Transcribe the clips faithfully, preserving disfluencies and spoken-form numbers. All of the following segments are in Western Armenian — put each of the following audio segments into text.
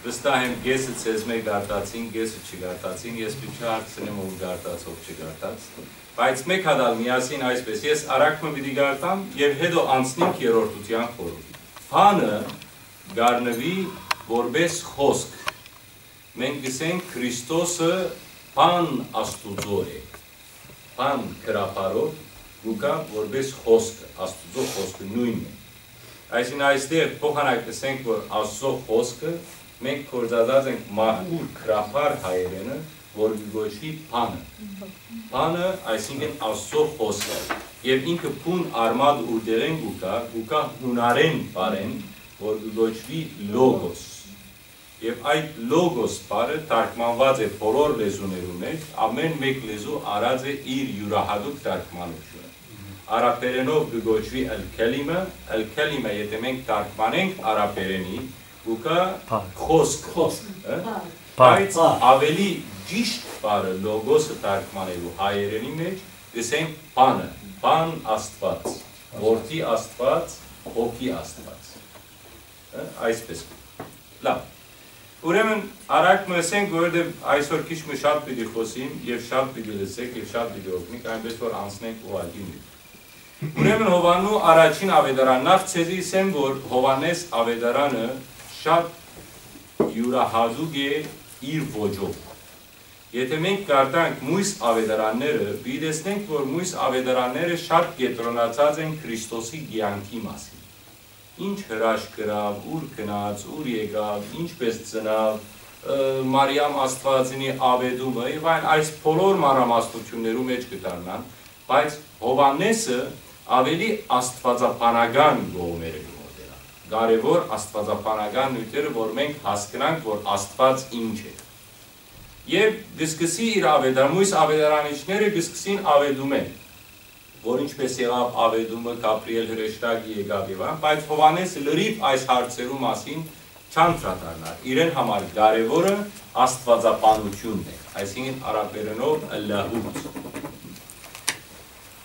Վստահ եմ, կեսը ձեզմէ կարդացին, կեսը չկարդացին, ես պիտի չհարցնեմ ով կարդաց, ով չկարդաց, բայց մէկ հատ ալ միասին այսպես, ես արագ մը պիտի կարդամ եւ հետո անցնենք երրորդութեան խորհուրդ։ Բանը կ'առնուի որպէս խօսք։ Մենք կ'ըսենք Քրիստոսը բան Աստուծոյ է։ Բան գրաբարով կու գայ որպէս խօսքը, Աստուծոյ խօսքը նոյնն է։ Այսինքն այստեղ փոխանակ կ'ըսենք, որ Աստուծոյ խօսքը մենք գործածած ենք մաքուր գրաբար հայերէնը, որ կը կոչուի բանը։ Բանը, այսինքն Աստուծոյ խօսքը։ Եւ ինքը բուն արմատ ուրտեղէն կու գայ, կու գայ յունարէն բառէն, որ կը կոչուի լոգոս։ Եւ այդ լոգոս բառը թարգմանուած է բոլոր լեզուներու մէջ, ամէն մէկ լեզու առած է իր իւրահատուկ թարգմանութիւնը։ Արաբերէնով կը կոչուի ալ-քելիմը, ալ-քելիմը, եթէ մենք թարգմանենք արաբերէնի, կու գայ խօսք, խօսք, հը? Բայց ավելի ճիշդ բառը լոգոսը թարգմանելու հայերէնի մէջ կ'ըսենք բանը, բան Աստուած, որդի Աստուած, հոգի Աստուած, հը? Այսպես։ Լավ։ Ուրեմն, արագ մը ըսենք, որովհետեւ այսօր քիչ մը շատ պիտի խօսիմ եւ շատ պիտի լսեք եւ շատ պիտի օգնիք, այնպես որ անցնենք ուղղակի նիւթ։ Ուրեմն Յովհաննու առաջին աւետարան, նախ ձեզի ըսեմ, որ Յովհաննէս աւետարանը շատ իւրահատուկ է իր ոճով։ Եթէ մենք կարդանք մոյս աւետարանները, պիտի տեսնենք, որ մոյս աւետարանները շատ կեդրոնացած են Քրիստոսի կեանքի մասին։ Ինչ հրաշք կրաւ, ուր գնաց, ուր եկաւ, ինչպես ծնաւ, ը, Մարիամ Աստուածինի աւետումը եւ այլն, այս բոլոր մանրամասնութիւններու մէջ կը դառնան, բայց Յովհաննէսը ավելի աստուածաբանական կողմերը կը մոտենայ։ Կարեւոր աստուածաբանական նիւթերը, որ մենք հասկնանք, որ Աստուած ինչ է։ Եւ կը սկսի իր աւետարան, մոյս աւետարանիչները կը սկսին աւետումէն, որ ինչպես եղաւ աւետումը, Գաբրիէլ հրեշտակը եկաւ եւ այլն, բայց Յովհաննէսը լրիւ այս հարցերու մասին չանդրադառնար։ Իրեն համար կարեւորը աստուածաբանութիւնն է, այսինքն արաբերէնով ըլլահուտ։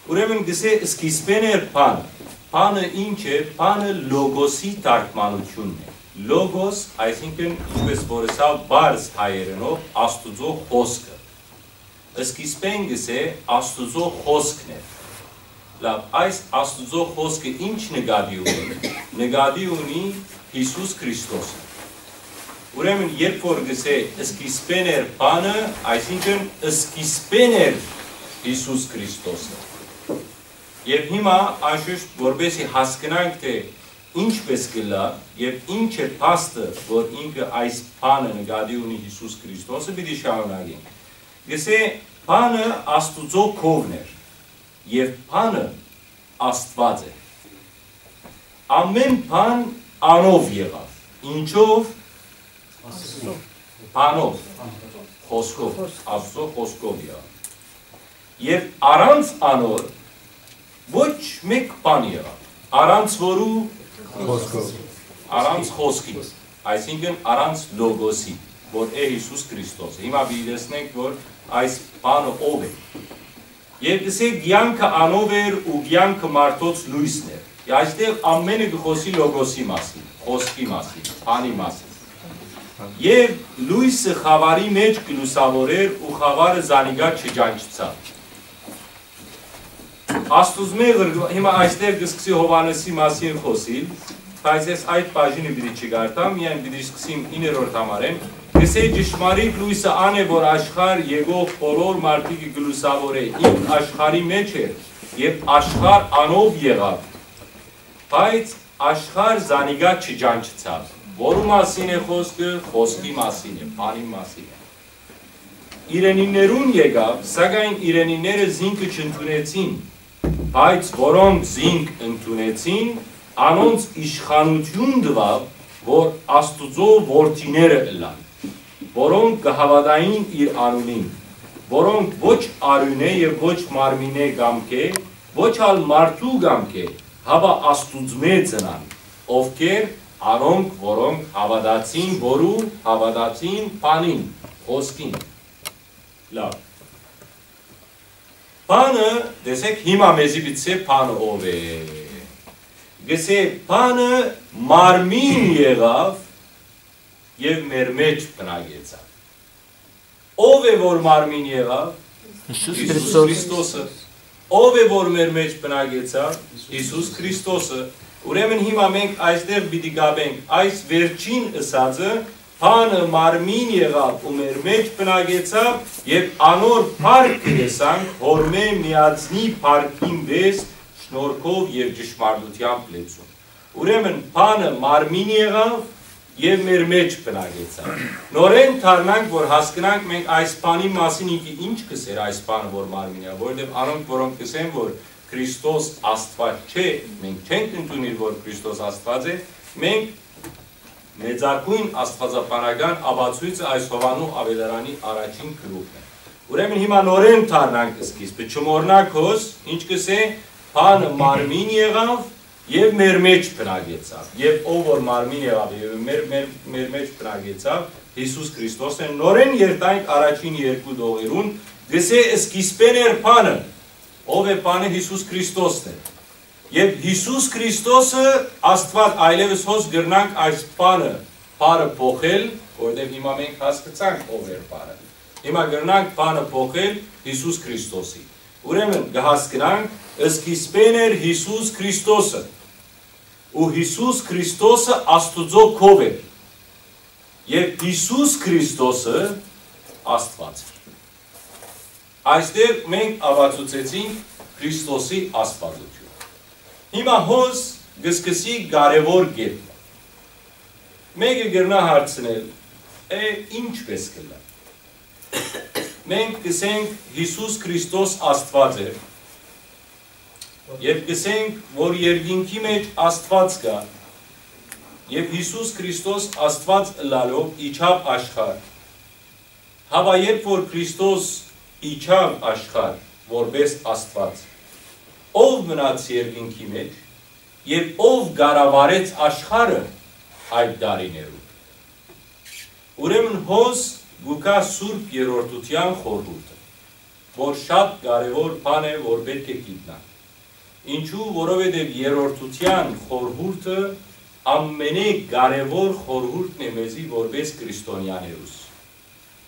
Ուրեմն կ'ըսէ, սկիզբէն էր բանը։ Բանը ինչ է, բանը լոգոսի թարգմանութիւնն է։ Լոգոս, այսինքն, ինչպես որ ըսաւ, պարզ հայերէնով Աստուծոյ խօսքը։ Սկիզբէն կ'ըսէ, Աստուծոյ խօսքն էր։ Լավ, այս Աստուծոյ խօսքը ինչ նկատի ունի, նկատի ունի Յիսուս Քրիստոսը։ Ուրեմն երբ որ կ'ըսէ, սկիզբէն էր բանը, այսինքն սկիզբէն էր Յիսուս Քրիստոսը։ Եւ հիմա անշուշտ որպեսի հասկնանք, թէ ինչպես կ'ըլլայ եւ ինչ է փաստը, որ ինքը այս բանը նկատի ունի Յիսուս Քրիստոսը, պիտի շարունակենք։ Կ'ըսէ, բանը Աստուծոյ քովն էր եւ բանը Աստուած է։ Ամէն բան անով եղաւ։ Ինչով։ Բանով, խօսքով, Աստուծոյ խօսքով եղաւ։ Եւ առանց անոր ոչ մէկ բան եղաւ։ Առանց որու։ Խօսքով։ Առանց խօսքի, այսինքն առանց լոգոսի, որ է Յիսուս Քրիստոսը։ Հիմա պիտի տեսնենք, որ այս բանը ով է։ Եւ կ'ըսէ, կեանքը անով էր ու կեանքը մարդոց լոյսն էր։ Այստեղ ամէնը կը խօսի լոգոսի մասին, խօսքի մասին, բանի մասին։ Եւ լոյսը խաւարի մէջ կը լուսաւորէր ու խաւարը զանիկա չճանչցաւ։ Աստուծմէ ղրկու-, հիմա այստեղ կը սկսի Յովհաննէսի մասին խօսիլ, բայց ես այդ բաժինը պիտի չկարդամ, միայն պիտի սկսիմ իններորդ համարէն։ Կ'ըսէ, ճշմարիտ լոյսը ան է, որ աշխարհ եկող բոլոր մարդիկը կը լուսաւորէ, ինք աշխարհի մէջ էր, եւ աշխարհ անով եղաւ, բայց աշխարհ զանիկա չճանչցաւ։ Որու մասին է խօսքը, խօսքի մասին է, բանի մասին է։ Իրենիներուն եկաւ, սակայն իրենիները զինքը չընդունեցին, բայց որոնք զինք ընդունեցին, անոնց իշխանութիւն տուաւ, որ Աստուծոյ որդիները ըլլան, որոնք կը հաւատային իր անունին, որոնք ոչ արիւնէ եւ ոչ մարմինէ կամքէ, ոչ ալ մարդու կամքէ, հապա Աստուծմէ ծնան, ովքեր անոնք, որոնք հաւատացին, որու հաւատացին բանին, խօսքին։ Լավ։ Բանը, տեսեք, հիմա մեզի պիտի բանը ով է։ Գսե, բանը մարմին եղաւ եւ մեր մէջ բնակեցաւ։ Ո՞վ է որ մարմին եղաւ։ Յիսուս Յիսուս Քրիստոս։ Քրիստոսը։ Ո՞վ է որ մեր մէջ բնակեցաւ։ Յիսուս Քրիստոսը։ Ուրեմն հիմա մենք այստեղ պիտի գաբենք այս վերջին ըսածը, բանը մարմին եղաւ ու մեր մէջ բնակեցաւ, եւ անոր փառքը տեսանք, հորմէ միածնի փառքին պէս, շնորհքով եւ ճշմարտութեամբ լեցուն։ Ուրեմն բանը մարմին եղաւ եւ մեր մէջ բնակեցաւ։ Նորէն դառնանք, որ հասկնանք մենք այս բանի մասին, ինքը ինչ կ'ըսէր այս բանը, որ մարմին եղաւ, որովհետեւ անոնք, որոնք կ'ըսեն, որ Քրիստոս Աստուած չէ, մենք չենք ընդունիր, որ Քրիստոս Աստուած է, մենք մեծագոյն աստուածաբանական ապացոյցը այս Յովհաննու աւետարանի առաջին գլուխն է։ Ուրեմն հիմա նորէն դառնանք սկիզբը, չմոռնաք հոս, ինչ կ'ըսէ, բանը մարմին եղաւ եւ մեր մէջ բնակեցաւ, եւ ով որ մարմին եղաւ եւ մեր, մեր, մեր մէջ բնակեցաւ, Յիսուս Քրիստոսն է, նորէն երթանք առաջին երկու դողերուն, կ'ըսէ, սկիզբէն էր բանը, ով է բանը, Յիսուս Քրիստոսն է։ Եւ Յիսուս Քրիստոսը Աստուած, այլեւս հոս կրնանք այս բանը, բառը փոխել, որովհետեւ հիմա մենք հասկցանք ով էր բառը։ Հիմա կրնանք բանը փոխել Յիսուս Քրիստոսի։ Ուրեմն կը հասկնանք, սկիզբէն էր Յիսուս Քրիստոսը, ու Յիսուս Քրիստոսը Աստուծոյ քով էր, եւ Յիսուս Քրիստոսը Աստուած էր։ Այստեղ մենք ապացուցեցինք Քրիստոսի աստվածությունը։ Հիմա հոս կը սկսի կարեւոր կետը։ Մէկը կրնայ հարցնել, է, ինչպէս կ'ըլլայ։ Մենք կ'ըսենք, Յիսուս Քրիստոս Աստուած էր, եւ կ'ըսենք, որ երկինքի մէջ Աստուած կայ, եւ Յիսուս Քրիստոս Աստուած ըլլալով իջաւ աշխարհ։ Հապա երբ որ Քրիստոս իջաւ աշխարհ որպէս Աստուած, ո՞վ մնաց երկինքի մէջ եւ ո՞վ կառավարեց աշխարհը այդ տարիներուն։ Ուրեմն հոս կու գայ Սուրբ Երրորդութեան խորհուրդը, որ շատ կարեւոր բան է, որ պէտք է գիտնանք։ Ինչու, որովհետեւ Երրորդութեան խորհուրդը ամենէ կարեւոր խորհուրդն է մեզի որպէս քրիստոնեաներուս։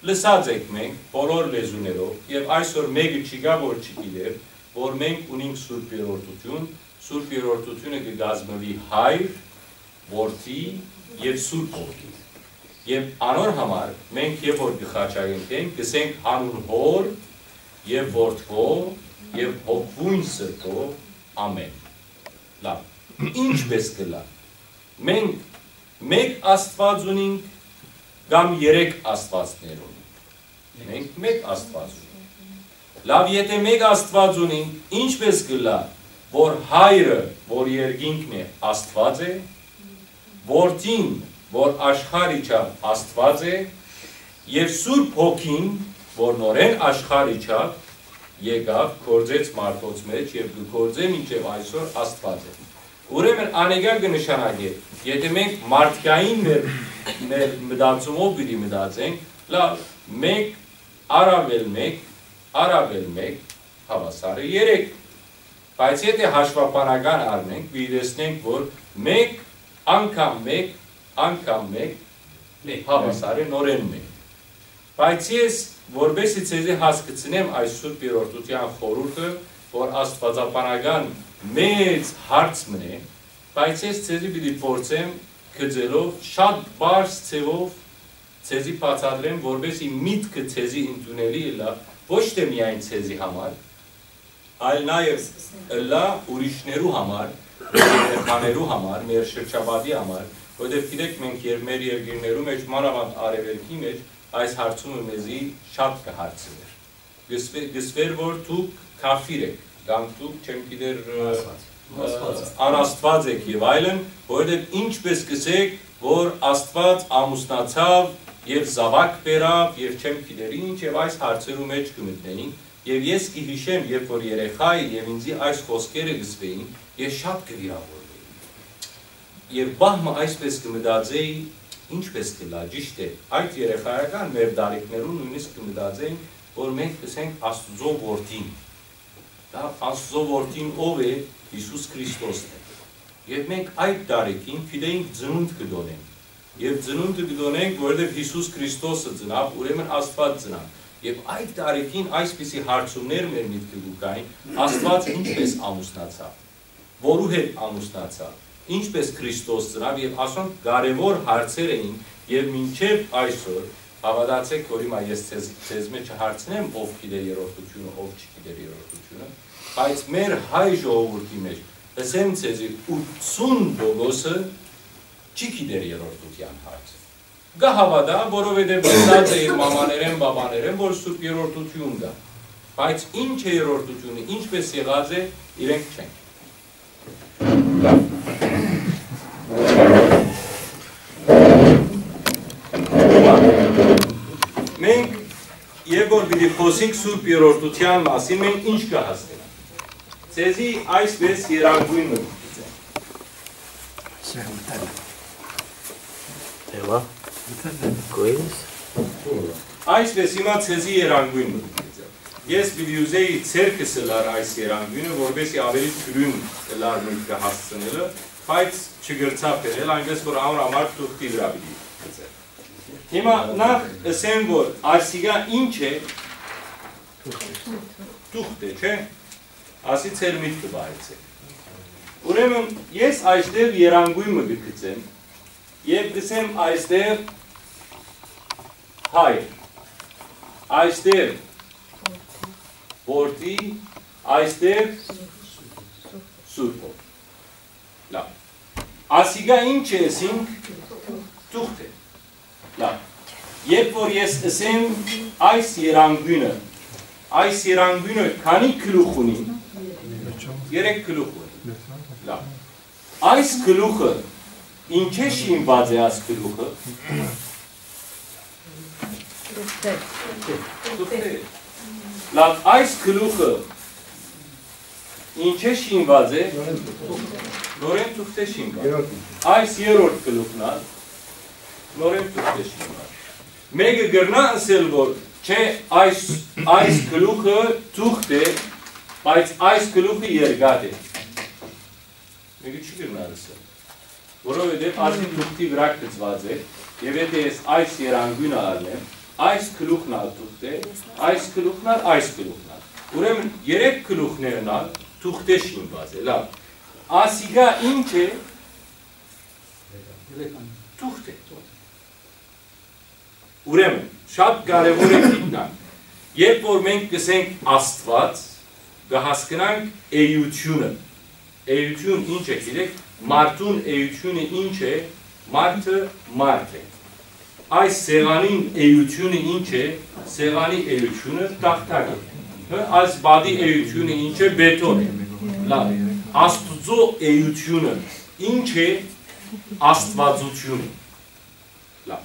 Լսած եք մենք բոլոր լեզուներով, եւ այսօր մէկը չկայ, որ չգիտեր, որ մենք ունենք Սուրբ Երրորդութիւն, Սուրբ Երրորդութիւնը կը կազմուի Հայր, Որդի եւ Սուրբ Հոգի։ Եւ անոր համար մենք երբ որ կը խաչակենքենք, կ'ըսենք, «Յանուն Հօր եւ Որդւոյ եւ Հոգւոյն Սրբոյ, ամէն»։ Լաւ, ինչպէս կ'ըլլայ։ Մենք մէկ Աստուած ունինք կամ երեք աստուածներ ունինք։ Մենք մէկ Աստուած ունինք։ Լաւ, եթէ մէկ Աստուած ունինք, ինչպէս կ'ըլլայ, որ Հայրը, որ երկինքն է, Աստուած է, Որդին, որ աշխարհ իջաւ, Աստուած է, եւ Սուրբ Հոգին, որ նորէն աշխարհ իջաւ, եկաւ, գործեց մարդոց մէջ եւ կը գործէ մինչեւ այսօր, Աստուած է։ Ուրեմն անիկա կը նշանակէ, եթէ մենք մարդկային մեր, մեր մտածումով պիտի մտածենք, լաւ, մէկ առաւել մէկ, առաւել մէկ, հաւասարը երեք։ Բայց եթէ հաշուաբանական առնենք, պիտի տեսնենք, որ մէկ անգամ մէկ, անգամ մէկ, մէկ, հաւասարը նորէն մէկ։ Բայց ես, որպեսզի ձեզի հասկցնեմ այս Սուրբ Երրորդութեան խորհուրդը, որ աստուածաբանական մեծ հարց մըն է, բայց ես ձեզի պիտի փորձեմ գծելով շատ պարզ ձևով ձեզի բացատրեմ, որպեսզի միտքը ձեզի ընդունելի ըլլայ ոչ թե միայն ձեզի համար, այլ նաեւ ըլլայ ուրիշներու համար, մեր երեխաներու համար, մեր շրջապատի համար, որովհետեւ գիտեք, մենք եր-, մեր երկիրներու մէջ, մանաւանդ արեւելքի մէջ, այս հարցումը մեզի շատ կը հարցնէր։ Կսվե-, կսվեր, որ դուք քաֆիր եք, կամ դուք, չեմ գիտեր, ը, անաստված եք եւ այլն, որովհետեւ ինչպէս կսեք, որ Աստուած ամուսնացաւ եւ զաւակ բերաւ եւ չեմ գիտեր ինչ, եւ այս հարցերու մէջ կը մտնեին, եւ ես կը յիշեմ, երբ որ երեխայ էի եւ ինձի այս խօսքերը կսվեին, ես շատ կը վիրավորվեի։ Եւ պահ մը այսպէս կը մտածէի, ինչպէս կ'ըլլայ, ճիշդ է, այդ երեխայական մեր տարիքներուն նոյնիսկ կը մտածեին, որ մենք կ'ըսենք Աստուծոյ որդին։ Դա Աստուծոյ որդին ո՞վ է, Յիսուս Քրիստոսն է։ Եւ մենք այդ տարիքին գիտեինք ծնունդ կը տոնենք։ Եւ ծնունդը կը տոնենք, որովհետեւ Յիսուս Քրիստոսը ծնաւ, ուրեմն Աստուած ծնաւ։ Եւ այդ տարիքին այսպիսի հարցումներ մեր միտքը կու գային, Աստուած ինչպես ամուսնացաւ, որու հետ ամուսնացաւ, ինչպես Քրիստոս ծնաւ, եւ ասոնք կարեւոր հարցեր էին, եւ մինչեւ այսօր, հաւատացէք, որ հիմա ես ձեզ, ձեզ մէ չհարցնեմ, ով գիտեր երրորդությունը, ով չգիտեր երրորդությունը, բայց մեր հայ ժողովուրդի մէջ, ըսեմ ձեզի, ութսուն տոկոսը չի գիտեր երրորդութեան հարցը։ Կը հաւատայ, որովհետեւ գտած է իր մամաներէն, բաբաներէն, որ Սուրբ Երրորդութիւն կայ։ Բայց ինչ է երրորդութիւնը, ինչպես եղած է, իրենք չեն։ Մենք, երբ որ պիտի խօսենք Սուրբ Երրորդութեան մասին, մենք ինչ կը հասկնանք։ Ձեզի այսպես երանգոյն մը կ'ըսեմ։ Էլա։ Կոյս։ Այսպես հիմա ձեզի երանգոյն մը կ'ըսեմ։ Ես պիտի ուզեի ձերքս ըլլար այս երանգոյնը, որպեսզի ավելի թիւրին ըլլար մտքը հասցնելը, բայց չգրցայ բերել, այնպես որ անոր համար թուղթի վրայ պիտի գցեմ։ Հիմա նախ ըսեմ, որ այսիգա ինչ է, թուղթ է, չէ՞։ Ասի ձեր միտքը պահեցէք։ Ուրեմն ես այստեղ երանգոյն մը կը գցեմ եւ կ'ըսեմ այստեղ հայր, այստեղ որդի, այստեղ Սուրբ Հոգի։ Լավ։ Ասիգա ինչ է, ասինք, թուղթ է։ Լավ։ Երբ որ ես ըսեմ այս երանգոյնը, այս երանգոյնը քանի գլուխ ունի։ Երեք գլուխ ունի։ Լավ։ Այս գլուխը, ինչէ շինուած է այս գլուխը։ Թուղթէ։ Լավ, այս գլուխը ինչէ շինուած է։ Նորէն թուղթէ շինուած։ Այս երրորդ գլուխն ալ նորէն թուղթէ շինուած։ Մէկը կրնայ ըսել, որ չէ, այս, այս գլուխը թուղթ է, բայց այս գլուխը երկաթ է։ Մէկը չի կրնար ըսել, որովհետեւ ասի թուղթի վրայ գծուած է, եւ եթե ես այս երանգոյնը առնեմ, այս գլուխն ալ թուղթ է, այս գլուխն ալ, այս գլուխն ալ։ Ուրեմն երեք գլուխներն ալ թուղթէ շինուած է, լավ։ Ասիգա ինչ է։ Թուղթ է։ Ուրեմն, շատ կարեւոր է գիտնանք, երբ որ մենք կ'ըսենք Աստուած, կը հասկնանք էությունը։ Էություն ինչ է, գիտեք, մարդուն էությունը ինչ է, մարդը մարդ է։ Այս սեղանին էությունը ինչ է, սեղանի էությունը տախտակ է։ Հը, այս պատի էությունը ինչ է, բետոն է։ Լավ, Աստուծոյ էությունը ինչ է, աստվածությունը։ Լավ։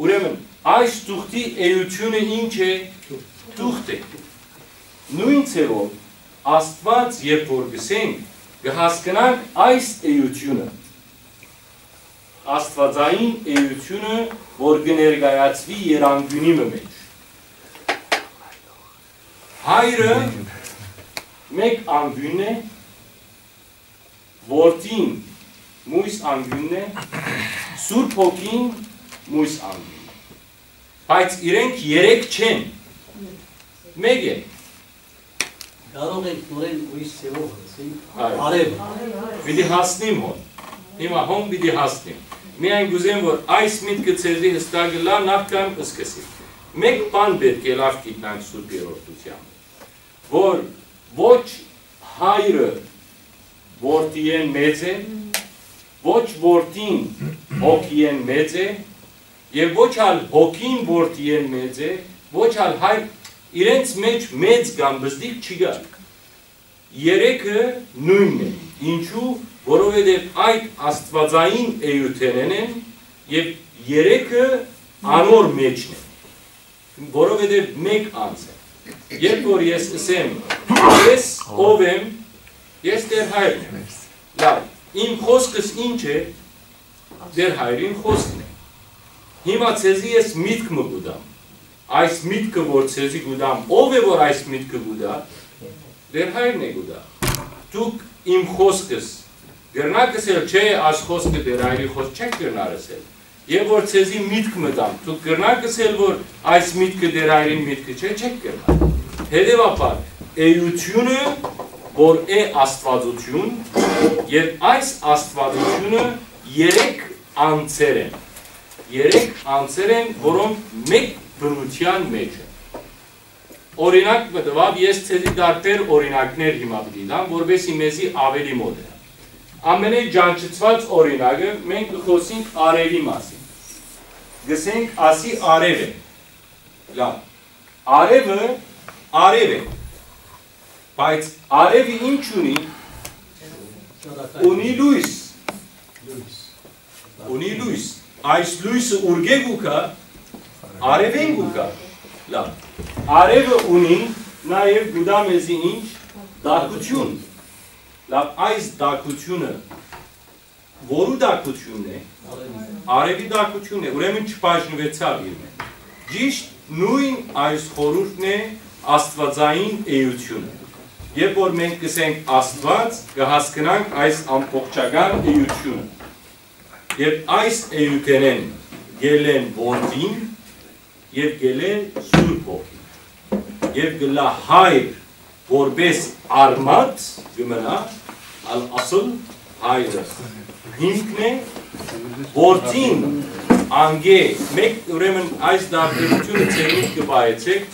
Ուրեմն, այս թուղթի էությունը ինչ է, թուղթ է։ Նոյն ձեւով Աստուած, երբ որ կ'ըսենք, կը հասկնանք այս էությունը, աստուածային էությունը, որ կը ներկայացուի երանգունի մը մէջ։ Հայրը մէկ անկիւնն է, որդին մոյս անկիւնն է, Սուրբ Հոգին մոյս անկիւնն է։ Բայց իրենք երեք չեն, մէկ են։ Կարող ենք նորեն ուրիշ ձևով ասենք, այո, արեւ։ Պիտի հասնիմ հոն։ Հիմա հոն պիտի հասնիմ։ Միայն կ'ուզեմ, որ այս միտքը ձեզի հստակ ըլլայ, նախքան սկսիմ։ Մէկ բան պէտք է լաւ գիտնանք Սուրբ Երրորդութեան, որ ոչ հայրը որդիէն մեծ է, ոչ որդին հոգիէն մեծ է, եւ ոչ ալ հոգին որդիէն մեծ է, ոչ ալ հայր, իրենց մէջ մեծ կամ բզդիկ չի գալ։ Երեքը նոյնն է։ Ինչու՞, որովհետեւ այդ աստուածային էութենէն են եւ երեքը անոր մէջն են, որովհետեւ մէկ անձ է։ Երբ որ ես ըսեմ, ես ով եմ, ես Տեր Հայրն եմ։ Լավ, իմ խօսքս ինչ է, Տեր Հայրին խօսքն է։ Հիմա ձեզի ես միտք մը կու տամ։ Այս միտքը, որ ձեզի կու տամ, ով է, որ այս միտքը կու տայ, Տեր Հայրն է կու տայ։ Դուք իմ խօսքս կրնաք ըսել, չէ, այս խօսքը Տեր Հայրի խօսք չեք կրնար ըսել։ Եւ որ ձեզի միտք մը տամ, դուք կրնաք ըսել, որ այս միտքը Տեր Հայրին միտքը չէ, չէք կրնար։ Հետեւաբար, էությունը, որ է Աստուածութիւն, եւ այս Աստուածութիւնը երեք անձեր են, երեք անձեր են, որոնք մէկ բնութեան մէջ են։ Օրինակ մը տուաւ, ես ձեզի տարբեր օրինակներ հիմա պիտի տամ, որպեսզի մեզի աւելի մօտ է։ Ամենէ ճանչցուած օրինակը, մենք կը խօսենք արեւի մասին։ Գսենք, ասի արեւ է։ Լավ։ Արեւը արեւ է, բայց արեւը ինչ ունի, ունի լոյս։ Ունի լոյս։ Այս լոյսը ուրկէ՞ կու գայ, արեւէն կու գայ։ Լավ։ Արեւը ունի, նաեւ կու տայ մեզի ինչ, տաքութիւն։ Լավ, այս տաքութիւնը որու տաքութիւնն է, արեւի տաքութիւնն է, ուրեմն չբաժնուեցաւ իրեն։ Ճիշդ նոյն այս խորհուրդն է աստուածային էությունը։ Երբ որ մենք կ'ըսենք Աստուած, կը հասկնանք այս ամբողջական էությունը։ Եւ այս էութենէն գելեն որդին, եւ գելեն Սուրբ Հոգին։ Եւ գլա հայր, որպէս արմատ կը մնայ, ալ ասլ հայրը հիմքն է, որդին անգէ, մէկ, ուրեմն այս դարբերութիւնը ձեր միտքը պահեցէք,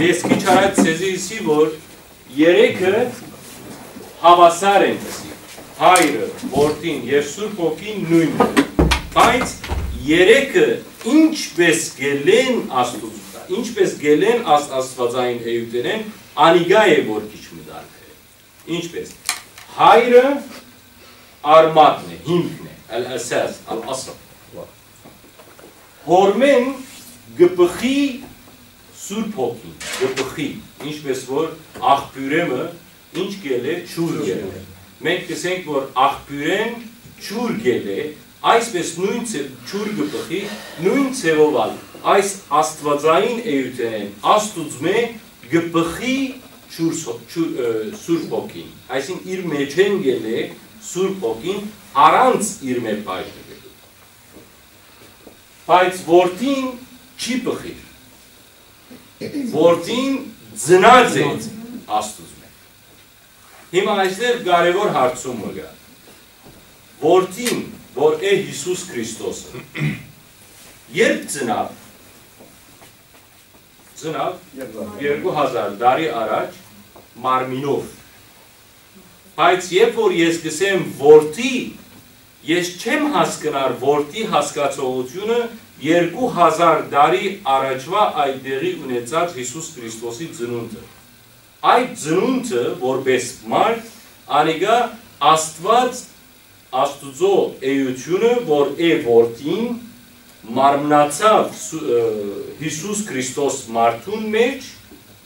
ես քիչ առաջ ձեզի ըսի, որ երեքը հաւասար են, ըսի, հայրը, որդին եւ Սուրբ Հոգին նոյնն է, բայց երեքը ինչպէս գելեն Աստուծոյ, ինչպէս գելեն աս-, աստուածային էութենէն, անիկա է, որ քիչ մը տարբեր է։ Ինչպէս հայրը արմատն է, հիմքն է, ալ-ասաս, ալ-ասլ։ Հորմէն կը բխի Սուրբ Հոգին, կը բխի, ինչպէս որ աղբիւրէ մը ինչ գելէ, ջուր գելէ։ Մենք կ'ըսենք, որ աղբիւրէն ջուր գելէ, այսպէս նոյն ձեւ-, ջուր կը բխի, նոյն ձեւով ալ այս աստուածային էութենէն Աստուծմէ կը բխի ջուր սո-, ջուր, ը, Սուրբ Հոգին, այսինքն իր մէջէն գելէ Սուրբ Հոգին առանց իրմէ բաժնուելու։ Բայց որդին չի բխիր։ Որդին ծնած է Աստուծմէ։ Հիմա այստեղ կարեւոր հարցում մը կայ։ Որդին, որ է Յիսուս Քրիստոսը, երբ ծնաւ, ծնաւ երկու հազար տարի առաջ մարմինով։ Բայց երբ որ ես կ'ըսեմ որդի, ես չեմ հասկնար որդի հասկացողութիւնը երկու հազար տարի առաջուայ այդ տեղի ունեցած Յիսուս Քրիստոսի ծնունդը։ Այդ ծնունդը, որպէս մարդ, անիկա Աստուած, Աստուծոյ էութիւնը, որ է որդին, մարմնացաւ Սու-, ը, Յիսուս Քրիստոս մարդուն մէջ,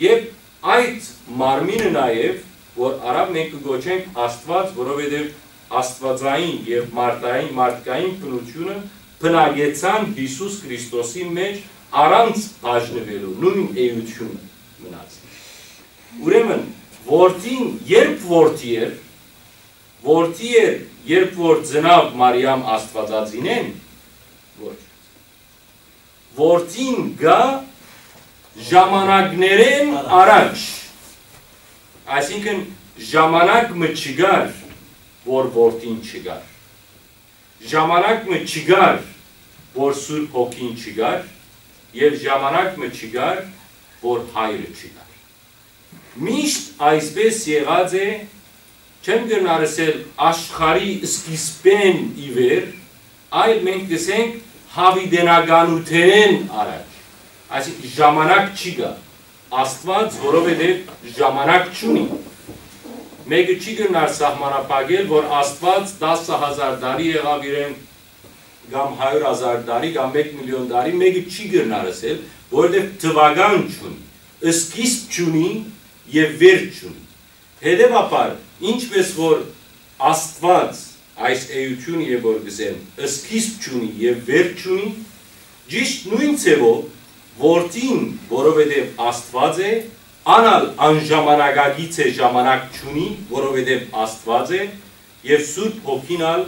եւ այդ մարմինը նաեւ, որ արաւ մենք կը կոչենք Աստուած, որովհետեւ աստուածային եւ մարդային, մարդկային բնութիւնը բնակեցան Յիսուս Քրիստոսի մէջ առանց բաժնուելու, նոյն էութիւնը մնաց։ Ուրեմն, որդին երբ որդի էր, որդի էր, երբ որ ծնաւ Մարիամ Աստուածածինէն, ոչ։ Որդին գայ ժամանակներէն առաջ, այսինքն ժամանակ մը չկար, որ որդին չկար։ Ժամանակ մը չկար, որ Սուրբ Հոգին չկար, եւ ժամանակ մը չկար, որ հայրը չկար։ Միշտ այսպէս եղած է, չեմ կրնար ըսել աշխարհի սկիզբէն ի վեր, այլ մենք կ'ըսենք յաւիտենականութենէն առաջ։ Այսինքն ժամանակ չի գա։ Աստուած, որովհետեւ ժամանակ չունի։ Մէկը չի կրնար սահմանափակել, որ Աստուած տասը հազար տարի եղաւ իրեն, կամ հարիւր հազար տարի, կամ մէկ միլիոն տարի, մէկը չի կրնար ըսել, որովհետեւ թուական չունի, սկիզբ չունի եւ վերջ չունի։ Հետեւաբար, ինչպէս որ Աստուած այս էութիւնը եւ որ կ'ըսեմ, սկիզբ չունի եւ վերջ չունի, ճիշդ նոյն ձեւով որդին, որովհետեւ Աստուած է, ան ալ անժամանակագից է, ժամանակ չունի, որովհետեւ Աստուած է, եւ Սուրբ Հոգին ալ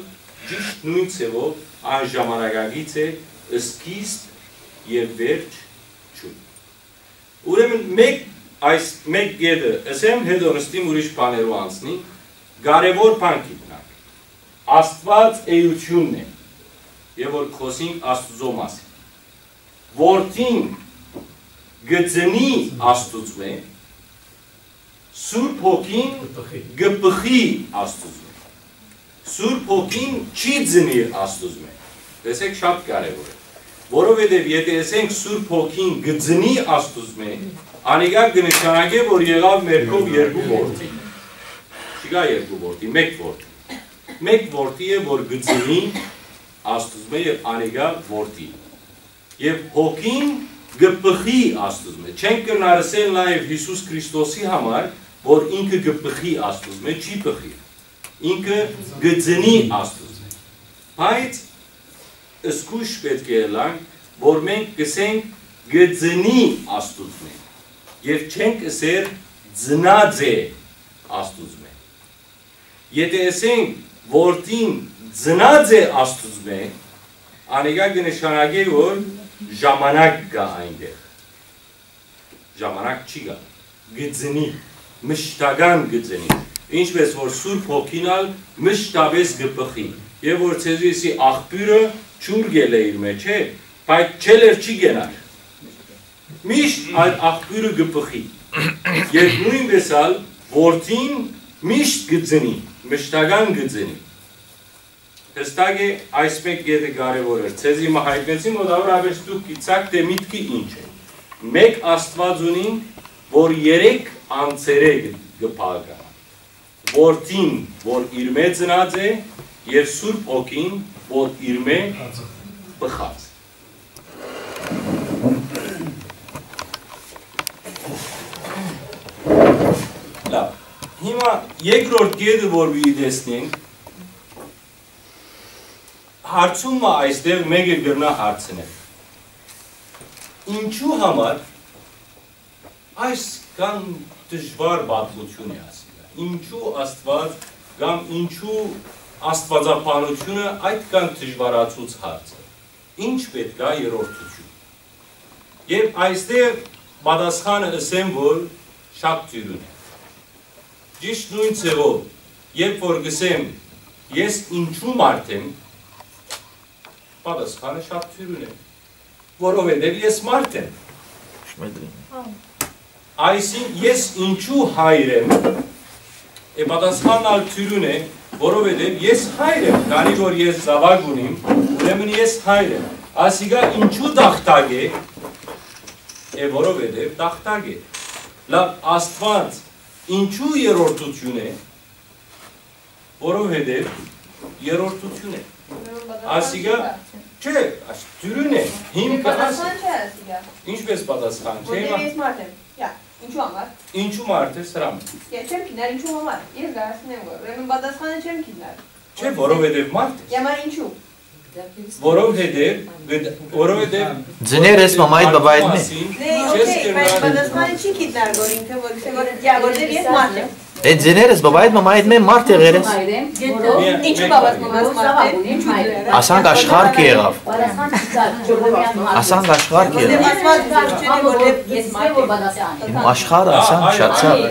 ճիշդ նոյն ձեւով անժամանակագից է, Սկիզբ եւ վերջ չունի։ Ուրեմն, մէկ, այս մէկ կետը ըսեմ, հետո նստիմ, ուրիշ բաներու անցնի, կարեւոր բան գիտնանք։ Աստուած էութիւնն է, եւ որ կ'խօսինք Աստուծոյ մասին։ Որդին կը ծնի Աստուծմէ, Սուրբ Հոգին կը պղի Աստուծմէ։ Սուրբ Հոգին չի ծնիր Աստուծմէ։ Տեսեք, շատ կարեւոր է։ Որովհետեւ եթէ ըսենք Սուրբ Հոգին կը ծնի Աստուծմէ, անիկա կը նշանակէ, որ եղաւ մեր քով երկու որդի։ Չկայ երկու որդի, մէկ որդի։ Մէկ որդի է, որ կը ծնի Աստուծմէ, եւ անիկա որդի։ Եւ Հոգին կը պղի Աստուծմէ։ Չենք կրնար ըսել նաեւ Յիսուս Քրիստոսի համար, որ ինքը կը պղի Աստուծմէ, չի պղի։ Ինքը կը ծնի Աստուծմէ։ Բայց զգոյշ պէտք է ըլլանք, որ մենք կ'ըսենք կը ծնի Աստուծմէ, եւ չենք ըսեր ծնած է Աստուծմէ։ Եթէ ըսենք որդին ծնած է Աստուծմէ, անիկա կը նշանակէ, որ ժամանակ կայ այնտեղ։ Ժամանակ չի գալ, կը ծնի, մշտական կը ծնի։ Ինչպէս որ Սուրբ Հոգին ալ մշտապէս կը պղի, եւ որ ձեզի ըսի աղբիւրը ջուր կ'ելլէ իր մէջ, չէ, բայց չելլեր չի կենար։ Միշտ այդ աղբիւրը կը պղի։ Եւ նոյնպէս ալ որդին միշտ կը ծնի, մշտական կը ծնի։ Հստակ է, այս մէկ կետը կարեւոր էր։ Ձեզի մը յայտնեցի, մոտավորապես դուք գիտցաք թէ միտքը ինչ է։ Մէկ Աստուած ունինք, որ երեք անձերէ կը, կը բաղկանայ։ Որդին, որ իրմէ ծնած է, եւ Սուրբ Հոգին, որ իրմէ պղած է։ Լավ, հիմա երկրորդ կետը, որ պիտի տեսնենք, հարցումը այստեղ մէկը կրնայ հարցնել. ինչու համար այսքան դժուար պատմութիւն է ասիկա։ Ինչու Աստուած կամ ինչու աստուածաբանութիւնը այդքան դժուարացուց հարցը։ Ինչ պէտք է երրորդութիւն։ Եւ այստեղ պատասխանը ըսեմ, որ շատ դիւրին է։ Ճիշդ նոյն ձեւով, երբ որ կ'ըսեմ, ես ինչու մարդ եմ, պատասխանը շատ դիւրին է, որովհետեւ ես մարդ եմ։ Այսինքն, ես ինչու հայր եմ, է պատասխանն ալ դիւրին է, որովհետեւ ես հայր եմ, քանի որ ես զաւակ ունիմ, ուրեմն ես հայր եմ։ Ասիկա ինչու տախտակ է, է որովհետեւ տախտակ է։ Լավ, Աստուած ինչու երրորդութիւն է, որովհետեւ երրորդութիւն է։ Ուրեմն պատասխան Ասիկա չի դարձել։ Չէ, այս դիւրին է, հիմքը Պատասխան չէ ասիկա։ Ինչպէս պատասխան չէ, Որտեղ հիմա ես մարդ եմ։ Յա, ինչու համար։ Ինչու մարդ ես, հրամ։ Ես չեմ գիտնար ինչու համար։ Ես գարասին եմ գոր։ Ուրեմն պատասխանը չեմ գիտնար։ Չէ, որովհետեւ մարդ ես։ Յա, մար ինչու։ Որովհետեւ գդ-, որովհետեւ Ձներ ես մամայդ բաբայդ մե։ Դե, չես օքեյ, բայց կրնար պատասխանը չի գիտնար, որ ինքը որ գսե որ, յա, որտեղ ես մարդ եմ։ Է, ձեներս բաբայդ մամայդ մե մարդ եղեր ես։ Ինչու բաբաս մամաս մարդ է։ Ինչու դու։ Ասանք աշխարհ կը եղավ։ Ասանք աշխարհ կը եղավ։ Դե, Աստված ձեզ չունի, որ դեռ ես մարդ եմ։ Իմ աշխարհը ասանք շատ ցավ է։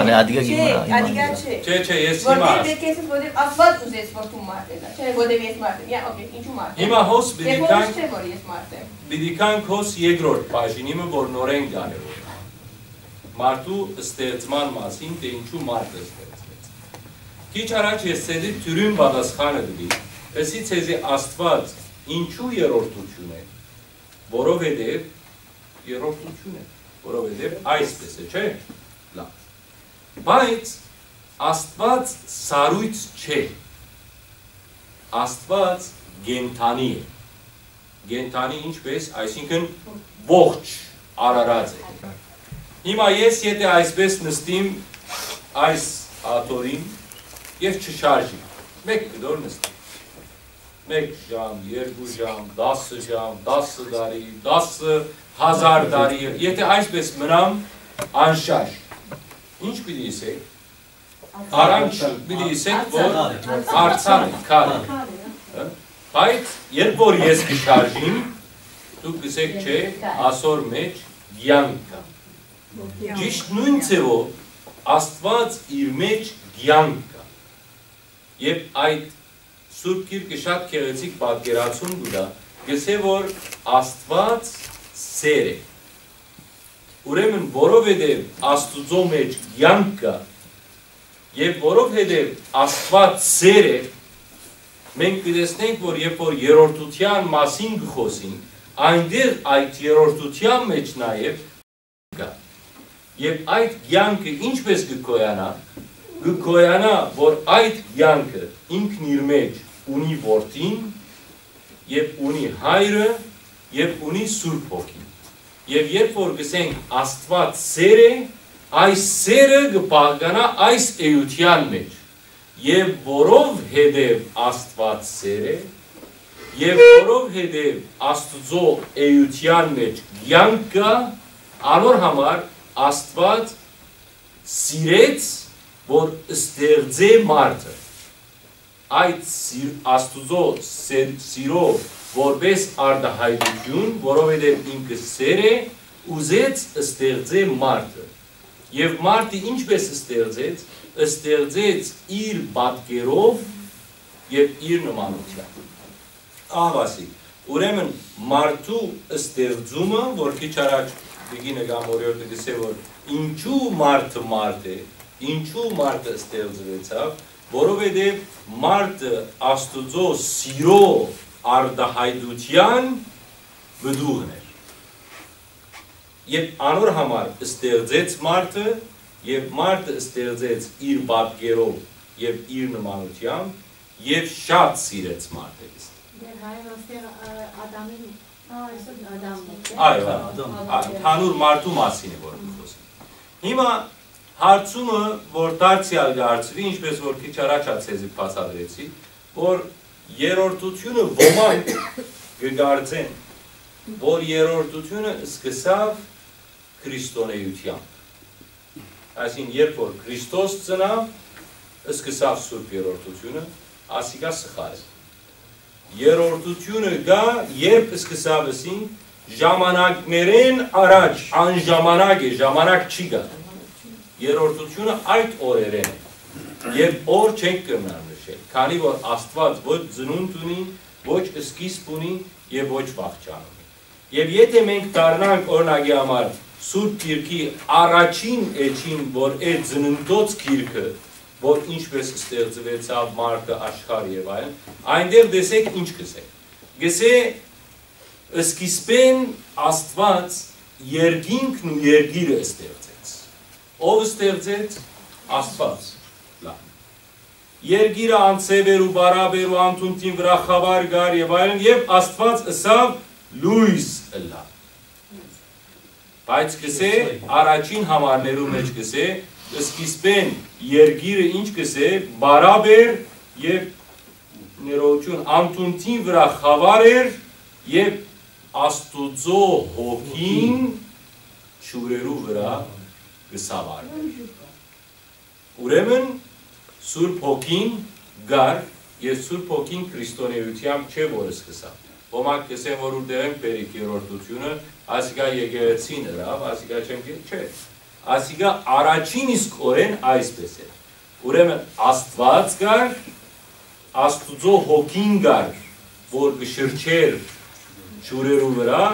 Անե ադիգա Չէ, գինա, ադիգա չէ։ Չէ, չէ, ես Որտեղ հիմա դեռ քեզս, որտեղ Աստված ուզեց, որ դու մարդ ես, չէ, որտեղ ես մարդ եմ, յա, օքեյ, ինչու մարդ եմ։ Հիմա հոս Դե պիտի որոշ կան, չէ, որ ես մարդ եմ։ Պիտի կան հոս երկրորդ բաժինիմը, որ նորեն կան է որ։ Մարդու ստեղծման մասին, թե ինչու մարդը ստեղծվեց։ Քիչ առաջ ես ձեզի դիւրին պատասխանը տուի, ըսի ձեզի Աստված ինչու երրորդութիւն է, որովհետեւ երրորդութիւն է, որովհետեւ այսպես է, չէ՞։ Լավ։ Բայց Աստված սառոյց չէ։ Աստված կենդանի է։ Կենդանի ինչպես, այսինքն ողջ արարած է։ Հիմա ես եթե այսպես նստիմ այս աթորին եւ չշարժիմ, մէկ կտոր նստիմ։ Մէկ ժամ, երկու ժամ, դասը ժամ, դասը տարի, դասը հազար տարի, եթե այսպես մնամ անշարժ, ինչ պիտի ըսեք։ Արանք պիտի ըսեք, որ արձան է, քար է։ Հա՞։ Բայց երբ որ ես կը շարժիմ, դուք կ'ըսէք, չէ, ասոր մէջ կեանք կայ։ Ճիշդ նոյն ձեւով Աստուած իր մէջ կեանք կայ։ Երբ այդ Սուրբ Գիրքը շատ գեղեցիկ պատկերացում կու տայ, կ'ըսէ, որ Աստուած սէր է։ Ուրեմն, որովհետեւ Աստուծոյ մէջ կեանք կայ, եւ որովհետեւ Աստուած սէր է, մենք կը տեսնենք, որ երբ որ երրորդութեան մասին կը խօսինք, այնտեղ այդ երրորդութեան մէջ նաեւ կայ։ Եւ այդ կեանքը ինչպէս կը գոյանայ, կը գոյանայ, որ այդ կեանքը ինքն իր մէջ ունի որդին, եւ ունի հայրը, եւ ունի Սուրբ Հոգին։ Եւ երբ որ կ'ըսենք Աստուած սէր է, այս սէրը կը բաղկանայ այս էութեան մէջ։ Եւ որովհետեւ Աստուած սէր է, եւ որովհետեւ Աստուծոյ էութեան մէջ կեանք կայ, անոր համար Աստուած սիրեց, որ ստեղծէ մարդը։ Այդ սիր-, Աստուծոյ սեր-, սիրով որպէս արտայայտութիւն, որովհետեւ ինքը սէր է, ուզեց ստեղծէ մարդը։ Եւ մարդը ինչպէս ստեղծեց, ստեղծեց իր պատկերով եւ իր նմանությամբ։ Ահա ասի, ուրեմն մարդու ստեղծումը, որ քիչ առաջ Տիկին կամ օրիորդը կ'ըսէ, որ ինչու մարդը մարդ է, ինչու մարդը ստեղծուեցաւ, որովհետեւ մարդը Աստուծոյ սիրո արտայայտութեան պտուղն էր։ Եւ անոր համար ստեղծեց մարդը, եւ մարդը ստեղծեց իր պատկերով եւ իր նմանությամբ, եւ շատ սիրեց մարդը։ Դեր հայր, ոստեղ, ը, Ադամին, Ա, այսօր Ադամն է, չէ՞։ Այո, Ադամ, Ադամ։ Ա, ընդհանուր մարդու մասին է, որ կը խոսի։ Հիմա հարցումը, որ դարձեալ կը հարցուի, ինչպես որ քիչ առաջ ա ձեզի բացատրեցի, որ երրորդությունը ոմանք կը կարծեն, որ երրորդությունը սկսաւ քրիստոնեությամբ։ Այսինքն, երբ որ Քրիստոս ծնաւ, սկսաւ Սուրբ Երրորդությունը, ասիկա սխալ է։ Երրորդությունը կայ, երբ սկսաւ, ասինք, ժամանակներէն առաջ, անժամանակ է, ժամանակ չի գա։ Երրորդությունը այդ օրերէն է։ Երբ օր չենք կրնար նշել, քանի որ Աստուած ոչ ծնունդ ունի, ոչ սկիզբ ունի եւ ոչ վախճան ունի։ Եւ եթէ մենք դառնանք, օրինակի համար, Սուրբ Գիրքի առաջին էջին, որ է ծննդոց գիրքը, որ ինչպես ստեղծուեցաւ մարդը, աշխարհ եւ այլն, այնտեղ տեսեք ինչ կ'ըսէ։ Կ'ըսէ, սկիզբէն Աստուած երկինքն ու երկիրը ստեղծեց։ Ո՞վ ստեղծեց։ Աստուած։ Լավ։ Երկիրը անձեւ էր ու պարապ էր ու անդունդին վրայ խաւար կար եւ այլն, եւ Աստուած ըսաւ. «Լոյս ըլլայ»։ Բայց կ'ըսէ, առաջին համարներու մէջ կ'ըսէ, սկիզբէն երկիրը ինչ կ'ըսէ, պարապ էր եւ ներողություն, անդունդին վրայ խաւար էր եւ Աստուծոյ հոգին ջուրերու վրայ կը սաւարէր։ Ուրեմն Սուրբ Հոգին կար, եւ Սուրբ Հոգին քրիստոնեությամբ չէ որ սկսաւ։ Ոմանք կ'ըսեն, որ ուրդեղէն բերիկ երրորդությունը, ասիկա եկեղեցին ըրաւ, ասիկա չեմ կը-, չէ։ Ասիկա առաջին իսկ օրէն այսպես էր։ Ուրեմն Աստուած կար, Աստուծոյ Հոգին կար, որ կը շրջէր ջուրերու վրայ,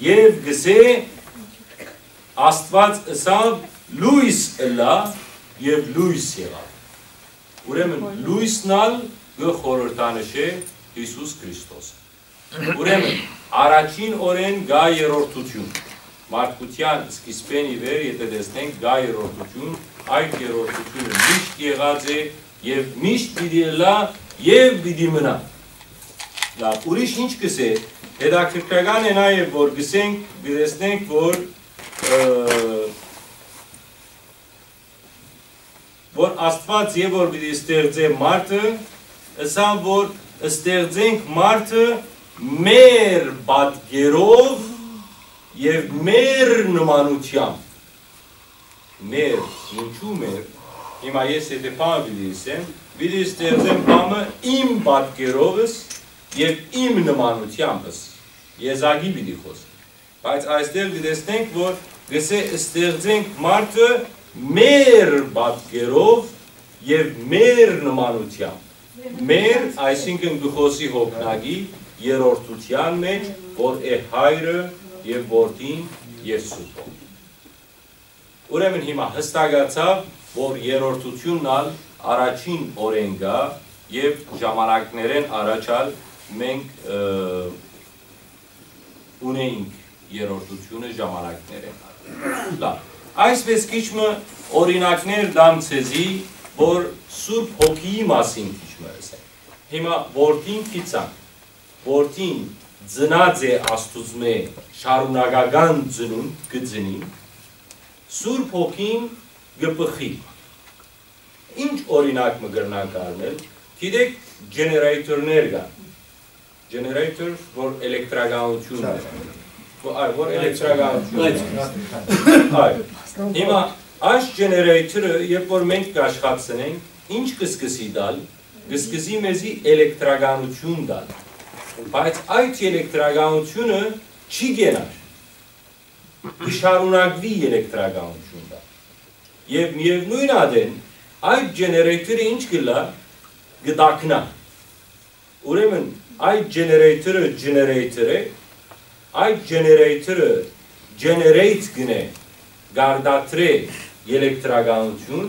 եւ կ'ըսէ, Աստուած ըսաւ. «Լոյս ըլլայ», եւ լոյս եղաւ։ Ուրեմն լոյսն ալ կը խորհրդանշէ Յիսուս Քրիստոսը։ Ուրեմն առաջին օրէն կայ երրորդութիւն։ Մարդկութեան սկիզբէն ի վեր, եթէ տեսնենք, կայ երրորդութիւն, այդ երրորդութիւնը միշտ եղած է եւ միշտ պիտի ըլլայ եւ պիտի մնայ։ Լավ, ուրիշ ինչ կ'ըսէ, հետաքրքրական է նաեւ, որ կ'ըսենք, կը տեսնենք, որ, ը, որ Աստուած եւ որ պիտի ստեղծէ մարդը, ըսաւ, որ ստեղծենք մարդը մեր պատկերով եւ մեր նմանությամբ։ Մեր, ինչու մեր, հիմա ես եթե բան պիտի ասեմ, պիտի ստեղծեմ բանը իմ պատկերովս եւ իմ նմանութեամբս, եզակի պիտի խօսի։ Բայց այստեղ կը տեսնենք, որ կսէ, «Ստեղծենք մարդը մեր պատկերով եւ մեր նմանութեամբ»։ Մեր, այսինքն կը խօսի հոգնակի երրորդութեան մէջ, որ է Հայրը եւ Որդին եւ Սուրբ Հոգին։ Ուրեմն հիմա յստակացաւ, որ երրորդութիւնն ալ առաջին օրէն կայ եւ ժամանակներէն առաջ ալ մենք, ը, ունէինք երրորդութիւնը ժամանակներէն առաջ։ Լավ, այսպէս քիչ մը օրինակներ տամ ձեզի, որ Սուրբ Հոգիի մասին քիչ մը ըսեմ։ Հիմա Որդին գիտցանք, Որդին ծնած է Աստուծմէ, շարունակական ծնունդ կը ծնի, Սուրբ Հոգին կը բխի։ Ինչ օրինակ մը կրնանք առնել, գիտեք, ջեներեյթորներ կան, ջեներեյթոր, որ էլեկտրականութիւն է, որ, այ, որ էլեկտրականութիւն է, այ, հիմա այս ջեներեյթորը, երբ որ մենք կաշխատցնենք, ինչ կը սկսի տալ, կը սկսի մեզի էլեկտրականութիւն տալ, բայց այդ էլեկտրականութիւնը չի կենար, կը շարունակուի էլեկտրականութիւն տալ։ Եւ միեւնոյն ատեն այդ ջեներեյթորը ինչ կ'ըլլայ, կը տաքնայ։ Ուրեմն այդ ջեներեյթորը ջեներեյթոր է, այդ ջեներեյթորը ջեներեյթ կ'ընէ, կ'արտադրէ էլեկտրականութիւն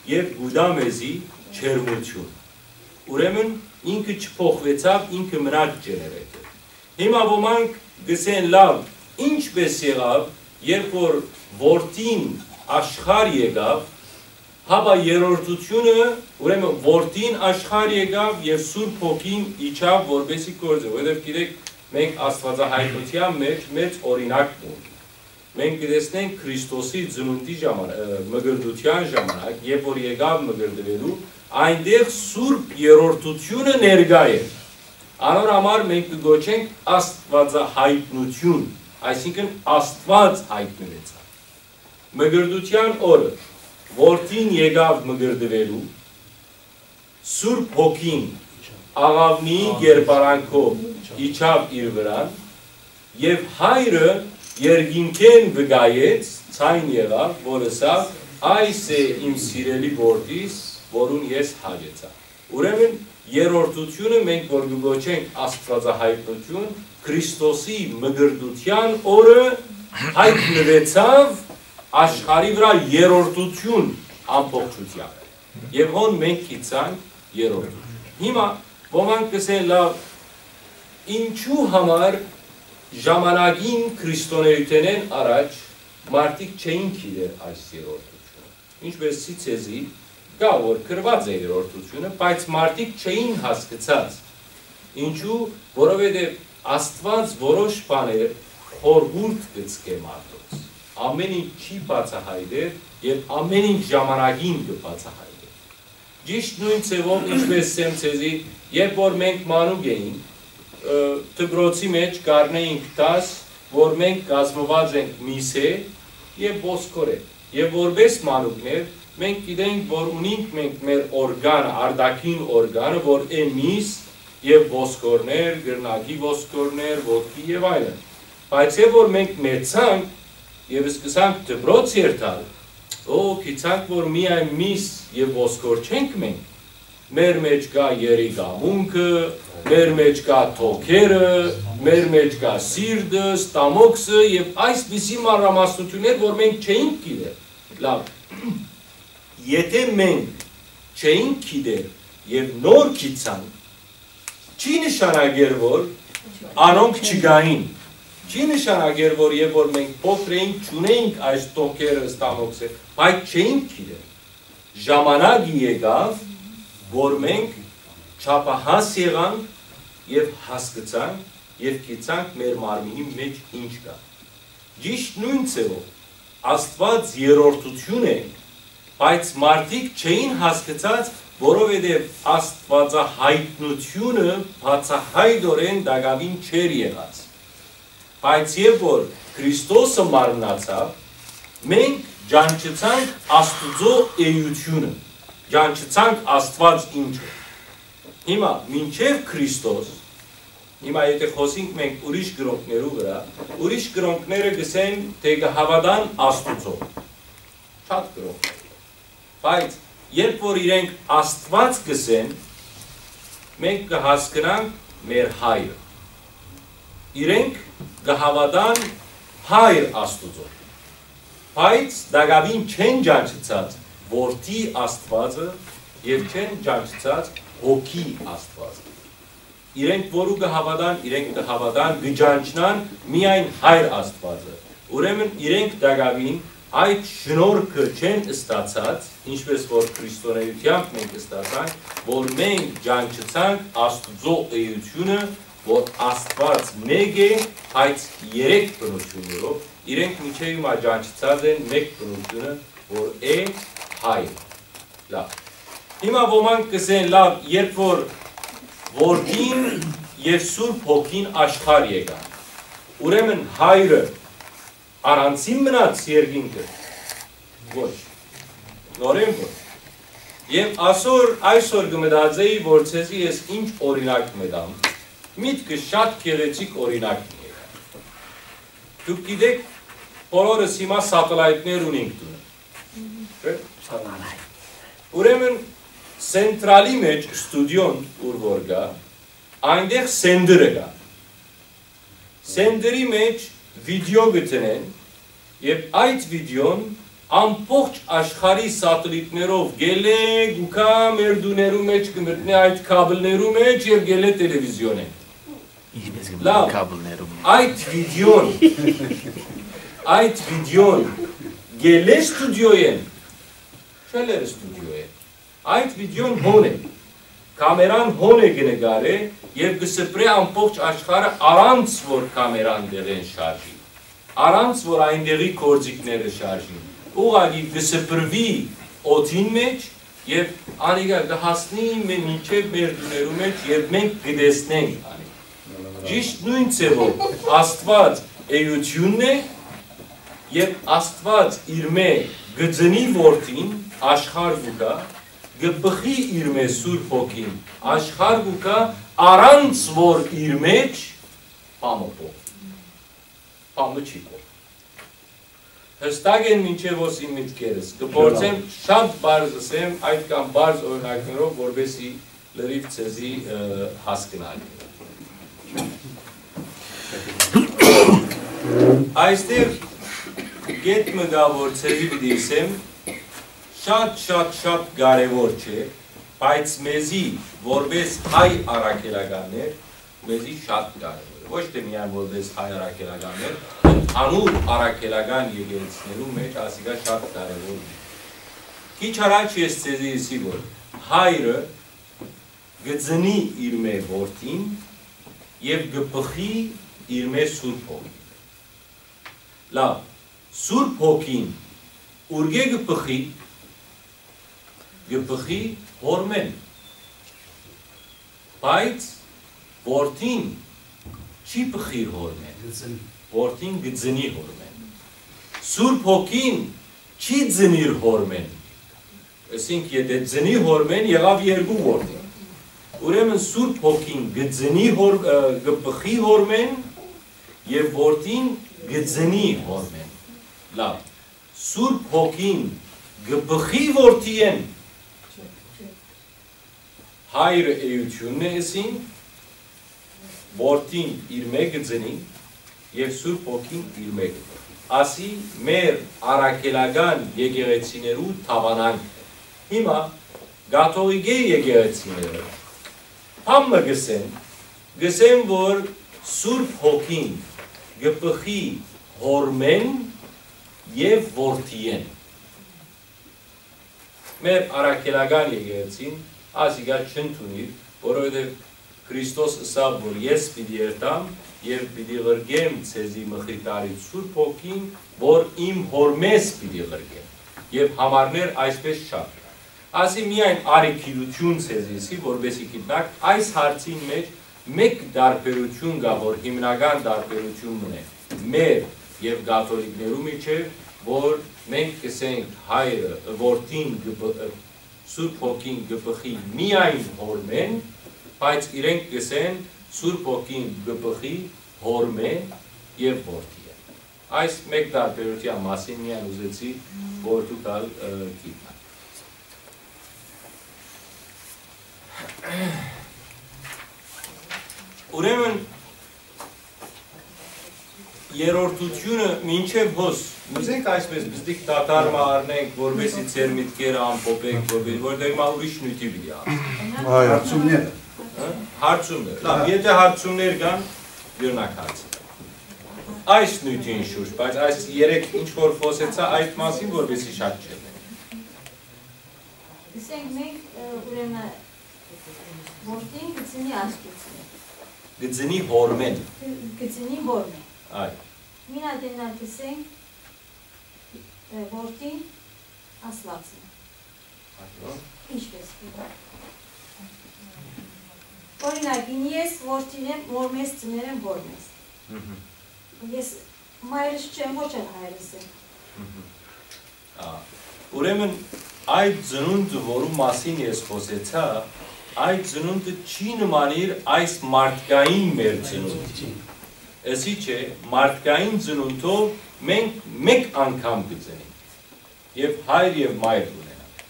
եւ կու տայ մեզի ջերմութիւն։ Ուրեմն ինքը չփոխուեցաւ, ինքը մնաց ջեներեյթոր։ Հիմա ոմանք կ'ըսեն, լավ, ինչպէս եղաւ, երբ որ Որդին աշխարհ եկաւ, հապա երրորդութիւնը, ուրեմն Որդին աշխարհ եկաւ եւ Սուրբ Հոգին իջաւ որպէսի գործէ, որովհետեւ գիտեք, մենք Աստուածահայտնութեան մէջ մեծ օրինակ ունենք։ Մենք կը տեսնենք Քրիստոսի ծնունդի ժաման-, ը, մկրտութեան ժամանակ, երբ որ եկաւ մկրտուելու, այնտեղ Սուրբ Երրորդութիւնը ներկայ է։ Անոր համար մենք կը կոչենք Աստուածահայտնութիւն, այսինքն Աստուած յայտնուեցաւ։ Մկրտութեան օրը Որդին եկաւ մկրտուելու, Սուրբ Հոգին աղաւնիի կերպարանքով իջաւ իր վրան, եւ Հայրը երկինքէն վկայեց, ձայն եղաւ, որ ըսաւ. «Այս է իմ սիրելի Որդիս, որուն ես հաճեցայ»։ Ուրեմն երրորդութիւնը մենք որ կը կոչենք Աստուածահայտնութիւն, Քրիստոսի մկրտութեան օրը յայտնուեցաւ աշխարհի վրայ երրորդութիւն ամբողջութեամբ։ Եւ հոն մենք գիտցանք երրորդութիւն։ Հիմա ոմանք կ'ըսեն, լավ, ինչու համար ժամանակին քրիստոնէութենէն առաջ մարդիկ չէին գիտեր այս երրորդութիւնը։ Ինչպէս ցիցեզի կայ, որ գրուած է երրորդութիւնը, բայց մարդիկ չէին հասկցած։ Ինչու, որովհետեւ Աստուած որոշ բաներ խորհուրդ կը ցկէ մարդոց։ Ամէն ինչ չի բացահայտեր եւ ամէն ինչ ժամանակին կը բացահայտեր։ Ճիշտ նոյն ձեւով, ինչպէս սեմ ցեզի, երբ որ մենք մանուկ էինք, ը, դպրոցի մէջ կ'առնէինք դաս, որ մենք կազմուած ենք միսէ եւ ոսկորէ։ Եւ որպէս մանուկներ, մենք գիտենք, որ ունինք մենք մեր օրգանը, արտաքին օրգանը, որ է միս եւ ոսկորներ, կրնակի ոսկորներ, ոտքի եւ այլն։ Բայց երբ որ մենք մեծանք եւ սկսանք դպրոց երթալ, օ, գիտցանք, որ միայն միս եւ ոսկոր չենք մենք, մեր մէջ կայ երիկամունքը, մեր մէջ կայ թոքերը, մեր մէջ կայ սիրտը, ստամոքսը եւ այսպիսի մանրամասնութիւններ, որ մենք չէինք գիտեր։ Լավ, եթե մենք չէինք գիտեր եւ նոր գիտցանք, չի նշանակեր, որ անոնք չկային։ Չի նշանակեր, որ երբ որ մենք փոքր էինք, չունեինք այս թոքերը, ստամոքսը, բայց չէինք գիտեր։ Ժամանակը եկաւ, որ մենք չափահաս եղանք եւ հասկցանք եւ գիտցանք մեր մարմինի մէջ ինչ կայ։ Ճիշտ նոյն ձեւով, Աստուած երրորդութիւն է, բայց մարդիկ չէին հասկցած, որովհետեւ Աստուածահայտնութիւնը բացահայտօրէն տակաւին չէր եղած։ Բայց երբ որ Քրիստոսը մարմնացաւ, մենք ճանչցանք Աստուծոյ էութիւնը, ճանչցանք Աստուած ինչ է։ Հիմա, մինչեւ Քրիստոս, Հիմա եթե խօսինք մենք ուրիշ կրօնքներու վրայ, ուրիշ կրօնքները կ'ըսեն թէ կը հաւատան Աստուծոյ։ Շատ կրօնքներ։ Բայց երբ որ իրենք Աստուած կ'ըսեն, մենք կը հասկնանք մեր հայրը։ Իրենք կը հաւատան հայր Աստուծոյ, բայց տակաւին չեն ճանչցած որդի Աստուածը եւ չեն ճանչցած հոգի Աստուածը։ Իրենք որու կը հաւատան, իրենք կը հաւատան, կը ճանչնան միայն հայր Աստուածը։ Ուրեմն իրենք տակաւին այդ շնորհքը չեն ստացած, ինչպես որ քրիստոնեությամբ մենք ստացանք, որ մենք ճանչցանք Աստուծոյ էությունը, որ Աստուած մէկ է, բայց երեք բնութիւններով, իրենք մինչեւ հիմա ճանչցած են մէկ բնութիւնը, որ է հայր։ Լավ։ Հիմա ոմանք կ'ըսեն, լավ, երբ որ որդին եւ Սուրբ Հոգին աշխարհ եկան, ուրեմն հայրը առանցին մնաց երկինքը։ Ոչ, նորեն ոչ։ Եւ ասոր, այսօր կը մտածեի, որ ձեզի ես ինչ օրինակ մտամ, միտքը շատ գեղեցիկ օրինակ մը եկա։ Դուք գիտէք, բոլորս հիմա սատելայտներ ունենք տունը։ Չէ՞։ Ուրեմն սենտրալի մեջ, ստուդիոն ուր որ կայ, այնտեղ սենդերը կայ։ Սենդերի մեջ վիդեո կը դնեն, եւ այդ վիդեոն ամբողջ աշխարհի սատելիտներով գելէ գուկա մեր տուներու մեջ, կը մտնէ այդ քաբլներու մեջ եւ գելէ տելեվիզիոնէն։ Ինչպես կը մտնէ լավ, քաբլներու մեջ։ Այդ վիդեոն, այդ վիդեոն գելէ ստուդիոյէն, չէ՞ լեր ստուդիոյէն։ Այդ վիդեոն հոն է։ Կամերան հոն է, կը նկարէ եւ կը սփռէ ամբողջ աշխարհը, առանց որ կամերան դեղեն շարժի, առանց որ այնտեղի գործիքները շարժին։ Ուղղակի կը սփռուի օդին մեջ եւ անիկա կը հասնի մե-, մինչեւ մեր տուներու մեջ եւ մենք կը տեսնենք անիկա։ Ճիշդ նոյն ձեւով Աստուած էութիւնն է եւ Աստուած իրմէ կը ծնի որդին, աշխարհ կու գայ, կը բխի իրմէ Սուրբ Հոգին, աշխարհ կու գայ, առանց որ իր մեջ բան մը փոխ-, բան մը չի փոխ-, հստակ են մինչեւ ոս իմ մտքերս։ Կը փորձեմ շատ բարձ ըսեմ, այդքան բարձ օրինակներով, որպեսզի լրիվ ձեզի, ը, հասկնալ։ Այստեղ կետ մը կայ, որ ձեզի պիտի ըսեմ, շատ, շատ, շատ կարեւոր չէ, բայց մեզի, որպես հայ առաքելականներ, մեզի շատ կարեւոր է։ Ոչ թե միայն որպես հայ առաքելականներ, ընդհանուր առաքելական եկեղեցիներու մեջ ասիկա շատ կարեւոր է։ Քիչ առաջ ես ձեզի ըսի, որ հայրը կը ծնի իրմէ որդին եւ կը բխի իրմէ Սուրբ Հոգին։ Լավ, Սուրբ Հոգին ուրկէ կը բխի, կը բխի հորմէն, բայց որդին չի բխիր հորմէն, որդին կը ծնի հորմէն։ Սուրբ Հոգին չի ծնիր հորմէն, այսինքն, եթե ծնի հորմէն, եղաւ երկու որդի։ Ուրեմն Սուրբ Հոգին կը ծնի հոր-, ը, կը բխի հորմէն եւ որդին կը ծնի հորմէն։ Լավ, Սուրբ Հոգին կը բխի որդիէն։ Հայրը էութիւնն է, ըսին, որդին իրմէ կը ծնի եւ Սուրբ Հոգին իրմէ կը բխի։ Ասի մեր առաքելական եկեղեցիներու դաւանանքը։ Հիմա կաթողիկէ եկեղեցիները բան մը կ'ըսեն, կ'ըսեն, որ Սուրբ Հոգին կը բխի հորմէն եւ որդիէն։ Մեր առաքելական եկեղեցին ասիկա չընդունիր, որովհետեւ Քրիստոս ըսաւ, որ ես պիտի երթամ եւ պիտի ղրկեմ ձեզի մխիթարից Սուրբ Հոգին, որ իմ հորմէս պիտի ղրկեմ։ Եւ համարներ այսպես շատ։ Ասի միայն արի գիտութիւն ձեզի ըսի, որպեսզի գիտնաք, այս հարցին մեջ մէկ տարբերութիւն կայ, որ հիմնական տարբերութիւն մըն է մեր եւ կաթոլիկներու միջեւ, որ մենք կ'ըսենք հայրը, որդին կը բ-, Սուրբ Հոգին կը բխի միայն հորմէն, բայց իրենք կ'ըսեն Սուրբ Հոգին կը բխի Հօրմէ եւ Որդիէ։ Այս մէկ տարբերութեան մասին միայն ուզեցի, որ դուք ալ, ը, գիտնաք։ Ուրեմն, երրորդությունը մինչեւ հոս, ուզենք այսպես պզտիկ դադար մը առնենք, որպեսզի ձեր միտքերը ամփոփենք, որպեսզի, որտեղ մա ուրիշ նյութի պիտի անցնենք։ Այո։ Հարցումները։ Հը՞, հարցումներ։ Լավ, եթե հարցումներ կան, յուրնակ հարցը։ Այս նյութին շուրջ, բայց այս երեք ինչ որ խոսեցայ, այդ մասին որպեսզի շատ չլինի։ Գսենք մենք, ը, ուրեմն, որդին գծնի Աստուծմէ։ Գծնի Հօրմէն։ Գ-, գծնի Հօրմէ։ Այո։ Մին ատեննա գսենք, ը, որդին Աստուածն է։ Այո։ Ինչպես։ Օրինակ, ին ես որդին եմ, Հօրմէս ծներ եմ, Հօրմէս։ Մհմ։ Ես մայրս չեմ, ոչ էլ հայրս եմ։ Մհմ։ Ա, ուրեմն, այդ ծնունդը, որու մասին ես խօսեցայ, այդ ծնունդը չի նմանիր այս մարդկային մեր ծնունդին։ Էսի չէ, մարդկային ծնունդով մենք մէկ անգամ կը ծնենք եւ հայր եւ մայր կունենանք։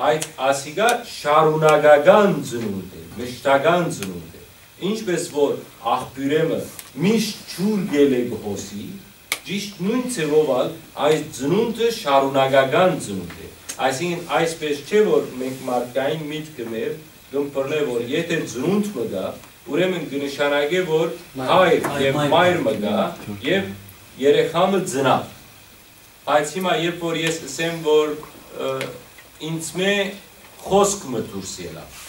Բայց ասիկա շարունակական ծնունդ է, մշտական ծնունդ է։ Ինչպես որ աղբիւրեմը միշտ ջուր գելը կը հոսի, ճիշտ նոյն ձեւով ալ այս ծնունդը շարունակական ծնունդ է։ Այսինքն, այսպես չէ, որ մենք մարդկային միտքը մեր կ'ըմբռնէ, որ եթե ծնունդ մը կայ, ուրեմն կը նշանակէ, որ Մայր։ հայր Այ, եւ մայր։ մայր մը կայ եւ երեխայ մը ծնաւ։ Բայց հիմա, երբ որ ես ըսեմ, որ, ը, ինձմէ խօսք մը դուրս ելաւ,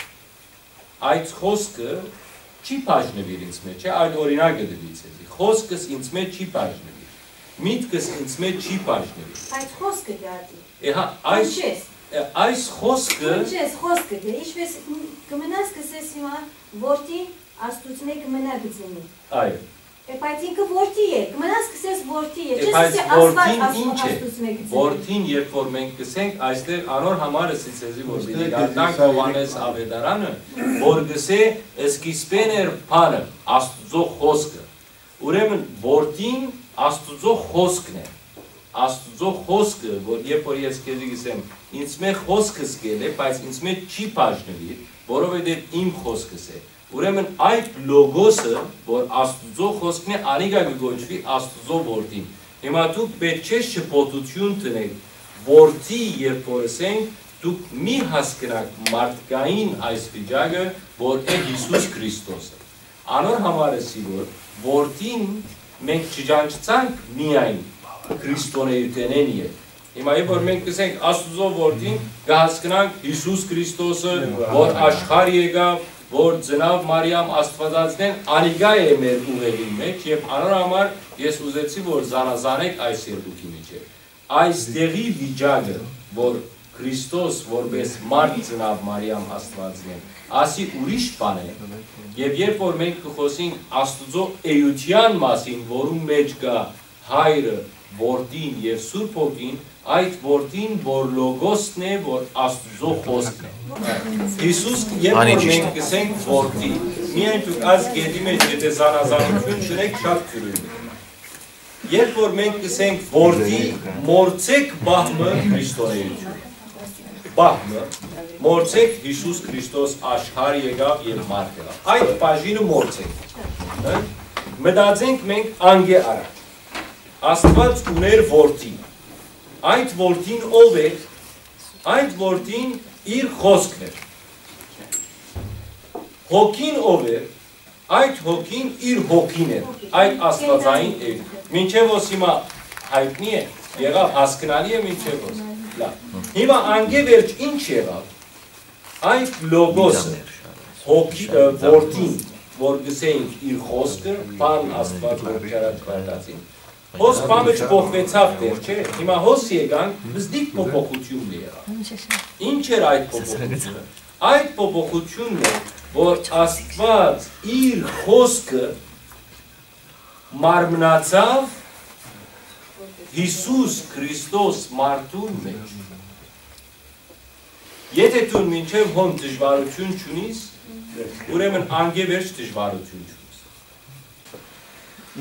այդ խօսքը չի բաժնուիր ինձմէ, չէ՞, այդ օրինակը տուի ձեզի։ Խօսքս ինձմէ չի բաժնուիր, միտքս ինձմէ չի բաժնուիր։ Բայց խօսքը դատի։ Է, հա, այս, Ինչպես։ է, այս խօսքը Ինչպես խօսքը դե, ինչպես մ-, կմնաս կսես հիմա, որդին Աստուծմէ կմնայ գծնի։ Այո։ Է, բայց ինքը որդի է, կմնաս կսես որդի է, Է, չէ՞ բայց սասի Աստված որդին Աստու-, ինչ է։ Աստուծմէ գծնի։ Որդին, երբ որ մենք կսենք, այստեղ անոր համար էսի ձեզի, որ Այստեղ պիտի գալտանք դիզայրի Յովհաննես մտա։ Ավետարանը, որ կսէ, սկիզբէն էր բանը, Աստուծոյ խօսքը։ Ուրեմն, որդին Աստուծոյ խօսքն է։ Աստուծոյ խօսքը, որ երբ որ ես քեզի կսեմ, ինձմէ խօսքս կ'ելլէ, բայց ինձմէ չի բաժնուիր, որովհետեւ իմ խօսքս է։ Ուրեմն, այդ լոգոսը, որ Աստուծոյ խօսքն է, անիկա կը կոչուի Աստուծոյ որդին։ Հիմա դուք պէտք չէ շփոթութիւն դնէք, որդի, երբ որ ըսենք, դուք մի հասկնաք մարդկային այս վիճակը, որ է Յիսուս Քրիստոսը։ Անոր համար էսի, որ որդին մենք չճանչցանք միայն քրիստոնէութենէն ետք։ Հիմա, երբ որ մենք կսենք Աստուծոյ որդին, կհասկնանք Յիսուս Քրիստոսը, որ աշխարհ եկաւ, որ ծնաւ Մարիամ Աստուածածնէն, անիկա է մեր ուղեղին մէջ, եւ անոր համար ես ուզեցի, որ զանազանեք այս երկուքի միջեւ։ Այս տեղի վիճակը, որ Քրիստոս որպես մարդ ծնաւ Մարիամ Աստուածնէն, ասի ուրիշ բան է, եւ երբ որ մենք կը խոսենք Աստուծոյ էութեան մասին, որուն մէջ կայ Հայրը, Որդին եւ Սուրբ Հոգին, այդ Որդին, որ Լոգոսն է, որ Աստուծոյ խօսքն է։ Յիսուս, երբ որ Անիճիշտ։ մենք կսենք Որդի, միայն դուք այս գետի մէջ եթե զանազանութիւն չունեք, շատ դրոյն է։ Երբ որ մենք կսենք Որդի, մորցեք բահմը Քրիստոնեություն։ Բահմը, մորցեք Յիսուս Քրիստոս աշխարհ եկաւ եւ մարդ եղաւ։ Այդ բաժինը մորցեք։ Հը՞։ Մտածենք մենք անկէ առաջ։ Աստուած ունէր Որդի։ Այդ Որդին ո՞վ է։ Այդ Որդին իր խօսքն էր։ Հոգին ո՞վ էր։ Այդ Հոգին իր Հոգին էր, այդ Աստուածային էր։ Մինչեւ ո՞ս հիմա յայտնի է, եղաւ, հասկնալի է մինչեւ ո՞ս։ Լավ։ Հիմա անկէ վերջ ի՞նչ եղաւ։ Այդ Լոգոսը, Հոգի, ը, Որդին, որ գսեինք իր խօսքը, բան Աստուած, որ չարաչքարտացին։ Հոս բանը չփոխուեցաւ դեռ, չէ՞։ Հիմա հոս եկանք, բզդիկ փոփոխութիւնն է եղաւ։ Ինչ էր այդ փոփոխութիւնը։ Այդ փոփոխութիւնն է, որ Աստուած իր խօսքը մարմնացաւ Յիսուս Քրիստոս մարդուն մէջ։ Եթե դուն մինչեւ հոն դժվարութիւն չունիս, Ուրեմն անկէ վերջ դժուարութիւն չունի։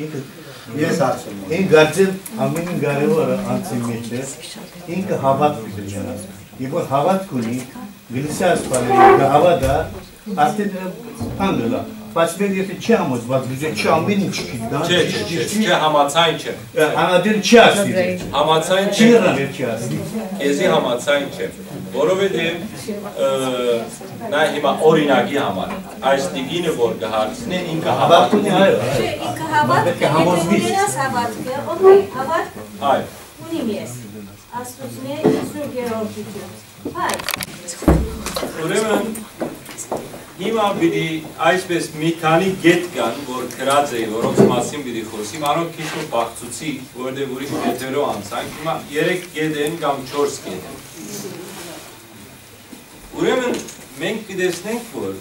Ինքը, ես ասում եմ, ինքը կարծեմ ամենին կարևորը անցի մեջ է, ինքը հավատք պիտի ունենա։ Երբ որ հավատք ունի, գլսի ասպարը, կը հավատա, արդեն բան կլա։ Բայց մեր եթե չի համոզված, գուզե չի ամեն ինչ գիտա, Չէ, չէ, ճիշտ, չէ, ճիշտ, չէ, համաձայն չեմ։ Անադել չի ասի։ Համաձայն Չի չեմ։ Եղան, չի ասի։ Քեզի համաձայն չեմ, որովհետև, ը, նա հիմա օրինակի համար, այս տիկինը որ կը հարցնէ, ինքը Հավատք ունի, այո, այո։ Չէ, ինքը հավատք Պետք է պետք է համոզվի։ Ունենաս հավատքը, օքեյ, հավատք Այո։ Ունիմ ես։ Աստուծմէ Սուրբ Երրորդութիւն։ Բայց Ուրեմն, հիմա պիտի այսպես մի քանի կետ կան, որ գրած էի, որոնց մասին պիտի խոսիմ, անոնք քիչ մը բաղցուցի, որտեղ ուրիշ կետերով անցանք, հիմա երեք կետ են կամ չորս կետ են։ Ուրեմն, մենք կտեսնենք, որ,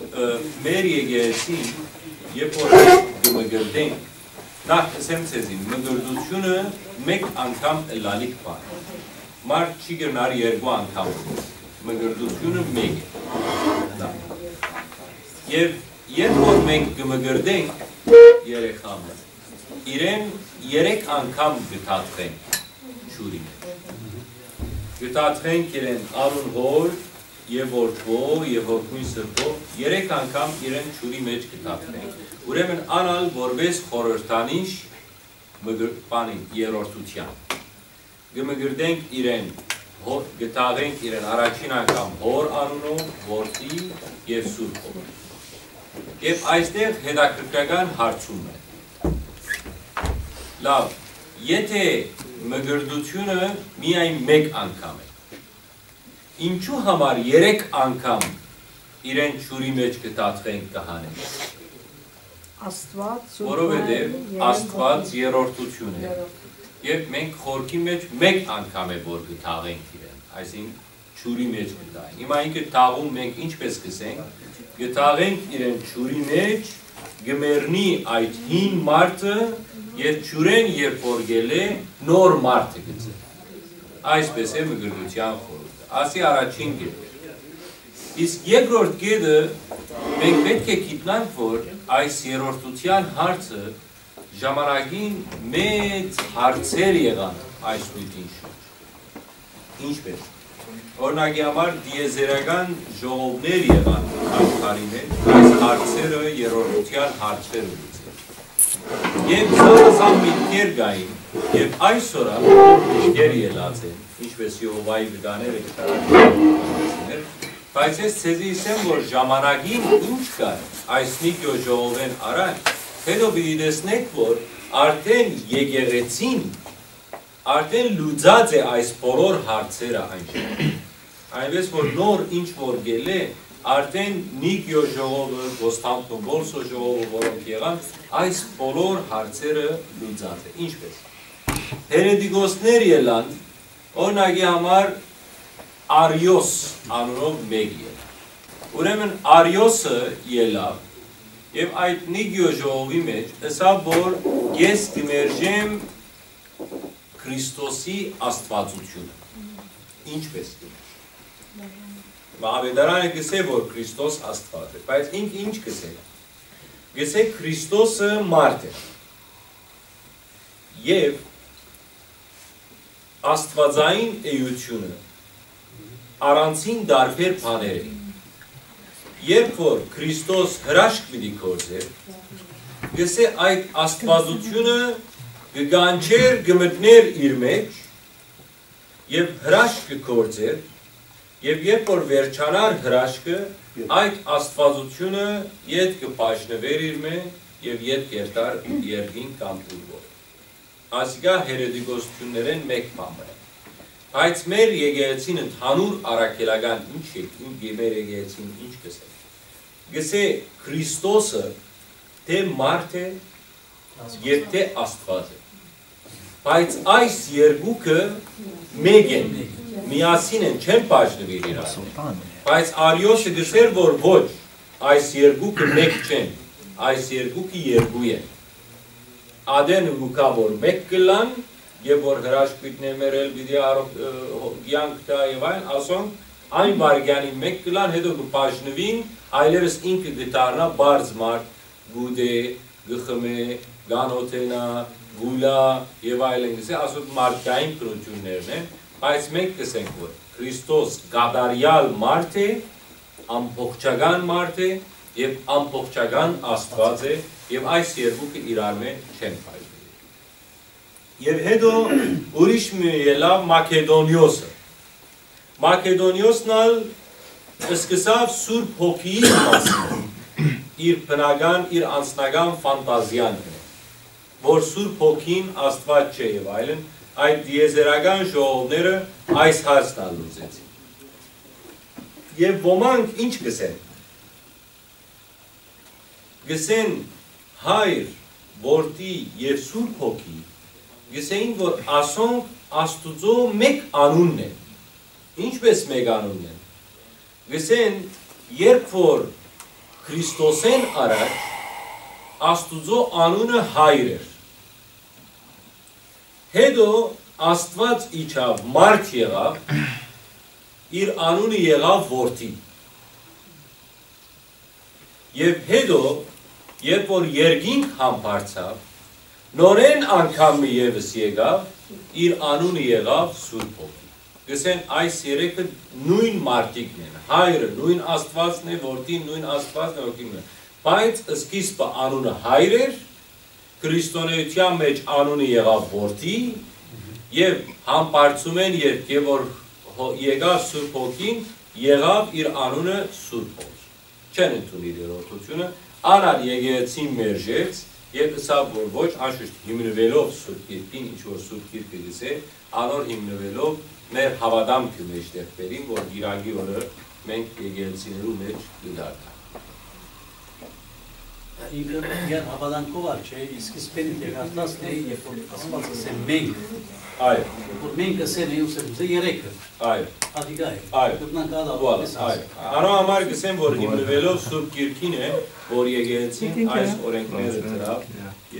ը, մեր եկեղեցին, երբ որ կը մկրտենք, նախ կ'ըսեմ ձեզի, մկրտությունը մեկ անգամ ըլալիք բան է։ Մարդ չի կրնար երկու անգամ մկրտությունը մեկ է։ Դա։ Եվ երբ որ մենք կը մկրտենք երեխան, իրեն երեք անգամ կը դատվենք ջուրի մէջ։ Կը դատվենք իրեն անուն Հօր եւ Որդւոյ եւ Հոգւոյն Սրբոյ, երեք անգամ իրեն ջուրի մէջ կը դատվենք։ Ուրեմն անալ որպես խորհրդանիշ մկր-, բանի, երրորդութեան։ Կը մկրտենք իրեն, հո-, կը թաղենք իրեն առաջին անգամ Հօր անունով, Որդի եւ Սուրբ Հոգի։ Եւ այստեղ հետաքրքրական հարցում է։ Լավ, եթե մկրտությունը միայն մեկ անգամ է, ինչու համար երեք անգամ իրեն ջուրի մէջ կը դատվենք, կը հանենք։ Աստուած, Սուրբ Որովհետեւ Մայր, Երրորդ Աստուած Հոգի։ Երրորդութիւն է։ Երրորդ։ Եւ մենք խորքի մէջ մեկ անգամ է որ կը թաղենք իրեն, այսինքն ջուրի մէջ կը թաղենք։ Հիմա ինքը թաղում մենք ինչպես կ'ըսենք, կը թաղենք իրեն ջուրի մէջ, կը մեռնի այդ հին մարդը եւ ջուրէն երբ որ կ'ելլէ, նոր մարդը կ'ըլլայ։ Այսպես է մկրտութեան խորհուրդը։ Ասի առաջին կետը։ Իսկ երկրորդ կետը մենք պէտք է գիտնանք, որ այս երրորդութեան հարցը ժամանակին մեծ հարցեր եղան այս նիւթին շուրջ։ Ինչպես։ Օրինակի համար, տիեզերական ժողովներ եղան աշխարհի մէջ, այս հարցերը երրորդութեան հարցերը լուծել։ Եւ զանազան միտքեր կային, եւ այսօր ալ միտքեր ելած են, ինչպես Եհովայի վկաները կը տարածեն, բայց ես ձեզի ըսեմ, որ ժամանակին ինչ կար այս Նիկիոյ ժողովէն առաջ, հետո պիտի տեսնեք, որ արդեն եկեղեցին արդեն լուծած է այս բոլոր հարցերը այն ժամանակ։ Այնպես որ նոր ինչ որ գելէ, արդեն Նիկիոյ ժողովը, Կոստանդնուպոլսոյ ժողովը, որոնք եղան, այս բոլոր հարցերը լուծած է։ Ինչպես։ Հերետիկոսներ ելան, օրինակի համար Արիոս անունով մեկը ելան։ Ուրեմն Արիոսը ելաւ եւ այդ Նիկիոյ ժողովի մէջ ըսաւ, որ ես կմերժեմ Քրիստոսի աստվածությունը։ Ինչպես կմերժեմ։ Մահմեդարանը կսե, որ Քրիստոս Աստված է, բայց ինք ինչ կսե։ Կսե Քրիստոսը մարդ է։ Եւ աստվածային էությունը առանցին տարբեր բաներ է։ Երբ որ Քրիստոս հրաշք պիտի գործեր, կսե այդ աստվածությունը կկանչեր, կմտներ իր մեջ եւ հրաշք կգործեր, եւ երբ որ վերջանար հրաշքը, այդ աստվածությունը ետ կբաժնվեր իր մէ եւ ետ կերթար երկին կամ ուր որ։ Ասիկա հերետիկոսություններէն մէկ բան մը է։ Բայց մեր եկեղեցին ընդհանուր առաքելական ինչ է, ինչ է մեր եկեղեցին ինչ կսե։ Կսե Քրիստոսը թէ մարդ է, եւ թէ Աստուած է։ Բայց այս երկուքը մէկ են, միասին են, չեն բաժնուիր իրար։ Բայց Արիոսը գսեր, որ ոչ, այս երկուքը մէկ չեն, այս երկուքը երկու են։ Ատեն ու կա, որ մէկ կլան, եւ որ հրաշք պիտի մերել, պիտի արող, ը, հո-, կյանք տայ եւ այլն, ասոնք Այն վայրկեանին մէկ կ'ըլլան, հետո կը բաժնուին, այլեւս ինքը կը դառնայ պարզ մարդ, կ'ուտէ, կը խմէ, կ'անօթենայ, կ'ուլայ եւ այլն, կ'ըսէ, ասոնք մարդկային բնութիւններն են, բայց մենք կ'ըսենք, որ Քրիստոս կատարեալ մարդ է, ամբողջական մարդ է եւ ամբողջական Աստուած է, եւ այս երկուքը իրարմէ չեն փայլիր։ Եւ հետո ուրիշ մի ելաւ Մակեդոնիոսը։ Մակեդոնիոսն ալ սկսաւ Սուրբ Հոգիին մասին, իր բնական, իր անձնական ֆանտազիան, որ Սուրբ Հոգին Աստուած չէ եւ այլն, այդ դիեզերական ժողովները այս հարցն ալ լուծեցին։ Եւ ոմանք ինչ կ'ըսեն, կ'ըսեն Հայր, Որդի եւ Սուրբ Հոգի, կ'ըսեին, որ ասոնք Աստուծոյ մէկ անունն են։ Ինչպէս մէկ անունն են։ Կ'ըսեն, երբ որ Քրիստոսէն առաջ Աստուծոյ անունը Հայր էր, հետո Աստուած իջաւ, մարդ եղաւ, իր անունը եղաւ Որդի։ Եւ հետո, երբ որ երկինք համբարձաւ, նորէն անգամ մը եւս եկաւ, իր անունը եղաւ Սուրբ Հոգի։ Կ'ըսեն, այս երեքը նոյն մարդիկն են, Հայրը նոյն Աստուածն է, Որդին նոյն Աստուածն է, Հոգին նոյն։ Բայց սկիզբը անունը Հայր էր, Քրիստոնէութեան մէջ անունը եղաւ Որդի, եւ համբարձումէն երբ եւ որ հո-, եկաւ Սուրբ Հոգին, եղաւ իր անունը Սուրբ Հոգի։ Չեն ընդունիր երրորդությունը, ան ալ եկեղեցին մերժեց եւ ըսաւ, որ ոչ, անշուշտ հիմնուելով Սուրբ Գիրքին, ինչ որ Սուրբ Գիրքը կ'ըսէ, անոր հիմնուելով մեր հաւատամքը մէջտեղ բերին, որ կիրակի օրը մենք եկեղեցիներու մէջ կը դառնանք։ Ինքը իր հաւատանքով ալ չէ, իսկ սկիզբէն դերարտասն է, երբ որ Աստուած ասէ մենք, Այո, որ մենք ասել ենք, ուսել ուսե երեքը, այո, ատիկա է, այո, կրնանք ալ Voilà, այո։ Անոր համար կ'ըսեմ, որ հիմնուելով Սուրբ Գիրքին է, որ եկեղեցին այս օրենքները դրաւ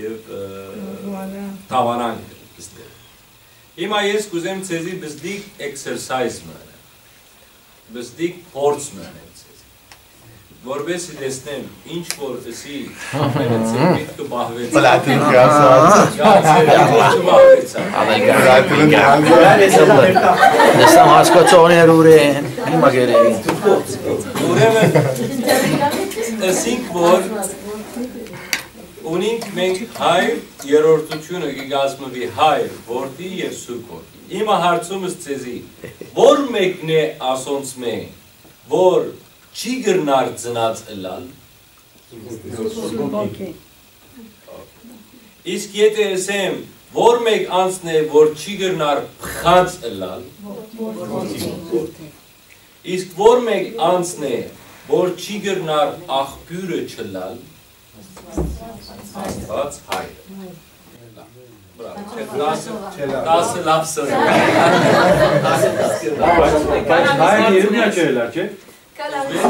եւ, ը, դաւանանք ստեղ։ Հիմա ես կ'ուզեմ ձեզի բզդիկ էքսերսայզ մը անեմ, բզդիկ փորձ մը անեմ ձեզի, որպեսզի տեսնեմ, ինչ որ ըսի, մերը ձեր միտքը պահվեցաւ։ Պլատինկա ասած։ Յա, ձեր միտքը չպահվեցաւ։ Անելկա։ Պլատինկա։ Տեսնեմ, հասկացողներ ուր են, հիմա գերեին։ Ուրեմն, ըսինք, որ ունինք մենք Հայր, երրորդությունը կը կազմուի Հայր, Որդի եւ Սուրբ Հոգի։ Հիմա հարցումս ձեզի, ո՞ր մեկն է ասոնցմէ, որ չի կրնար ծնած ըլլալ։ Սուրբ Հոգի։ Իսկ եթե ըսեմ, ո՞ր մէկ անձն է, որ չի կրնար փխած ըլլալ։ Իսկ ո՞ր մէկ անձն է, որ չի կրնար աղբիւրը չըլլալ։ Աստուած Հայրը։ Բրավո, չէ, տասը, տասը լաւ սրը։ Բայց Հայրը երկու չէ, լա, չէ՞։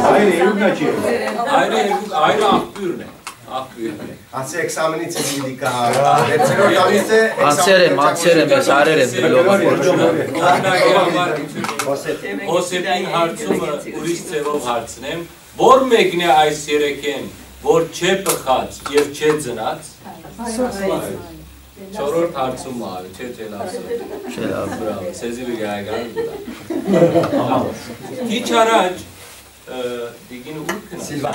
Հայրը երկու չէ։ Հայրը երկու, Հայրը աղբիւրն է, աղբիւրն է։ Անցի էքսամենից ինձ պիտի գա։ Հերցերոր տալիս է Անցեր եմ, անցեր եմ, ես արեր եմ, դրլովը։ Օրինակի համար Հոսեփին հարցումը ուրիշ ձևով հարցնեմ, ո՞ր մեկն է այս երեքէն, որ չէ պխած եւ չէ ծնած։ Չորրորդ հարցումը արի, չէ, չէ, լավ սա։ Չէ, լավ։ Բրավո, սեզի մի գայական։ Քիչ առաջ, ը, դիգին ուր գնաց։ Սիլվա։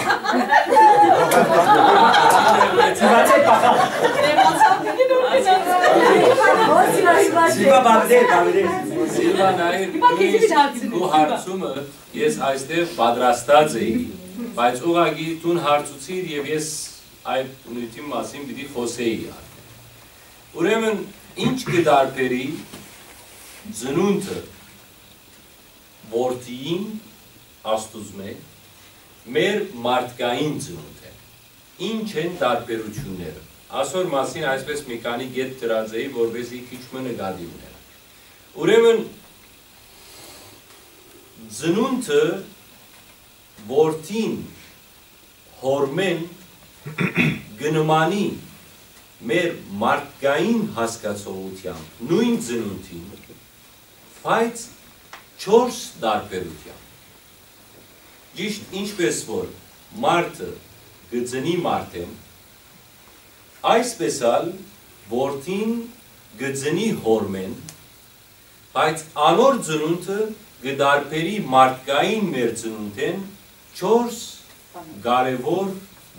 Սիլվա, բավդե, բավդե։ Սիլվա, նայիր, Հիմա քեզի նույնիսկ պիտի հարցնեմ, քու Սիլվա։ Հարցումը ես այստեղ պատրաստած էի, բայց ուղղակի դուն հարցուցիր եւ ես այդ նյութին մասին պիտի խոսեի արդեն։ Ուրեմն, ինչ կը տարբերի ծնունդը որդիին Աստուծմէ մեր մարդկային ծնունդէն։ Ինչ են տարբերությունները։ Ասոր մասին այսպես մի քանի կետ դրած էի, որպեսզի քիչ մը նկատի ունենանք։ Ուրեմն, ծնունդը որդին հօրմէն կը նմանի մեր մարդկային հասկացողութեամբ նոյն ծնունդին, բայց չորս տարբերութեամբ։ Ճիշդ ինչպէս որ մարդը կը ծնի մարդէն, այսպէս ալ որդին կը ծնի հօրմէն, բայց անոր ծնունդը կը տարբերի մարդկային մեր ծնունդէն չորս կարեւոր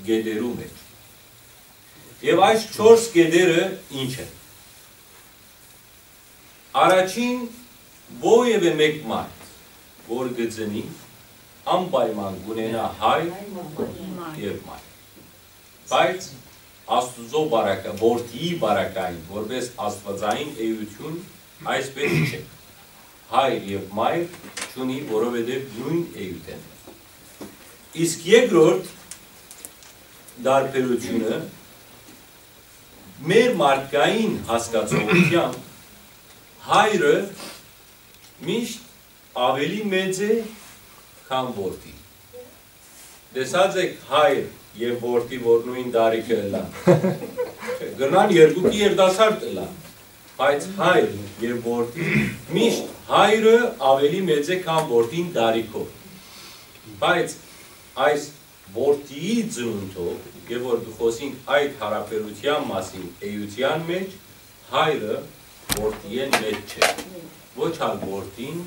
կետերու մէջ։ Եւ այս չորս կետերը ի՞նչ են։ Առաջին, որեւէ մէկ մարդ, որ կը ծնի, անպայման կ'ունենայ հայր եւ մայր։ Բայց Աստուծոյ պարագա-, որդիի պարագային, որպէս աստուածային էութիւն, այսպէս չէ։ Հայր եւ մայր չունի, որովհետեւ նոյն էութ են։ Իսկ երկրորդ տարբերութիւնը, մեր մարդկային հասկացողութեամբ հայրը միշտ աւելի մեծ է, քան որդին։ Տեսած եք հայր եւ որդի, որ նոյն տարիքը ըլլան։ Չէ, կրնան երկուքի երիտասարդ ըլլան, բայց հայր եւ որդի, միշտ հայրը աւելի մեծ է, քան որդին տարիքով։ Բայց այս որդիի ծնունդով, եւ որ կը խօսինք այդ յարաբերութեան մասին էութեան մէջ, հայրը որդիէն մեծ չէ, ոչ ալ որդին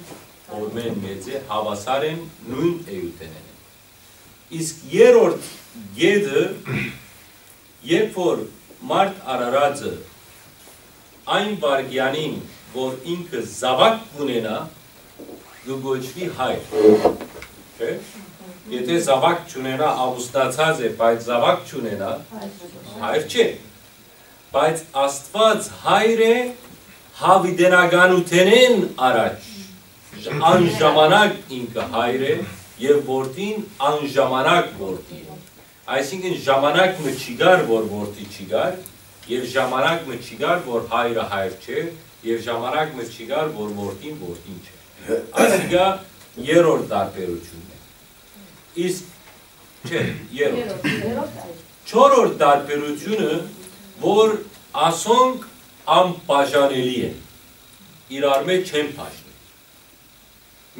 հօրմէն մեծ է, հաւասար են, նոյն էութենէն են։ Իսկ երրորդ կետը, երբ որ մարդ արարածը այն վայրկեանին, որ ինքը զաւակ կ'ունենայ, կը կոչուի հայր։ Չէ՞։ Եթե զաւակ չունենայ, ամուսնացած է, բայց զաւակ չունենայ, հայր չէ։ Բայց Աստուած հայր է յաւիտենականութենէն առաջ, ժ-, անժամանակ ինքը հայր է եւ որդին անժամանակ որդի է։ Այսինքն ժամանակ մը չի գար, որ որդի չի գար, եւ ժամանակ մը չի գար, որ հայրը հայր չէ, եւ ժամանակ մը չի գար, որ որդին որդին չէ։ Ասիկա երրորդ տարբերութիւնն է։ Իսկ, չէ, երրորդ։ Չորրորդ տարբերութիւնը, որ ասոնք անբաժանելի են, իրար մէջ չեն բաժնի։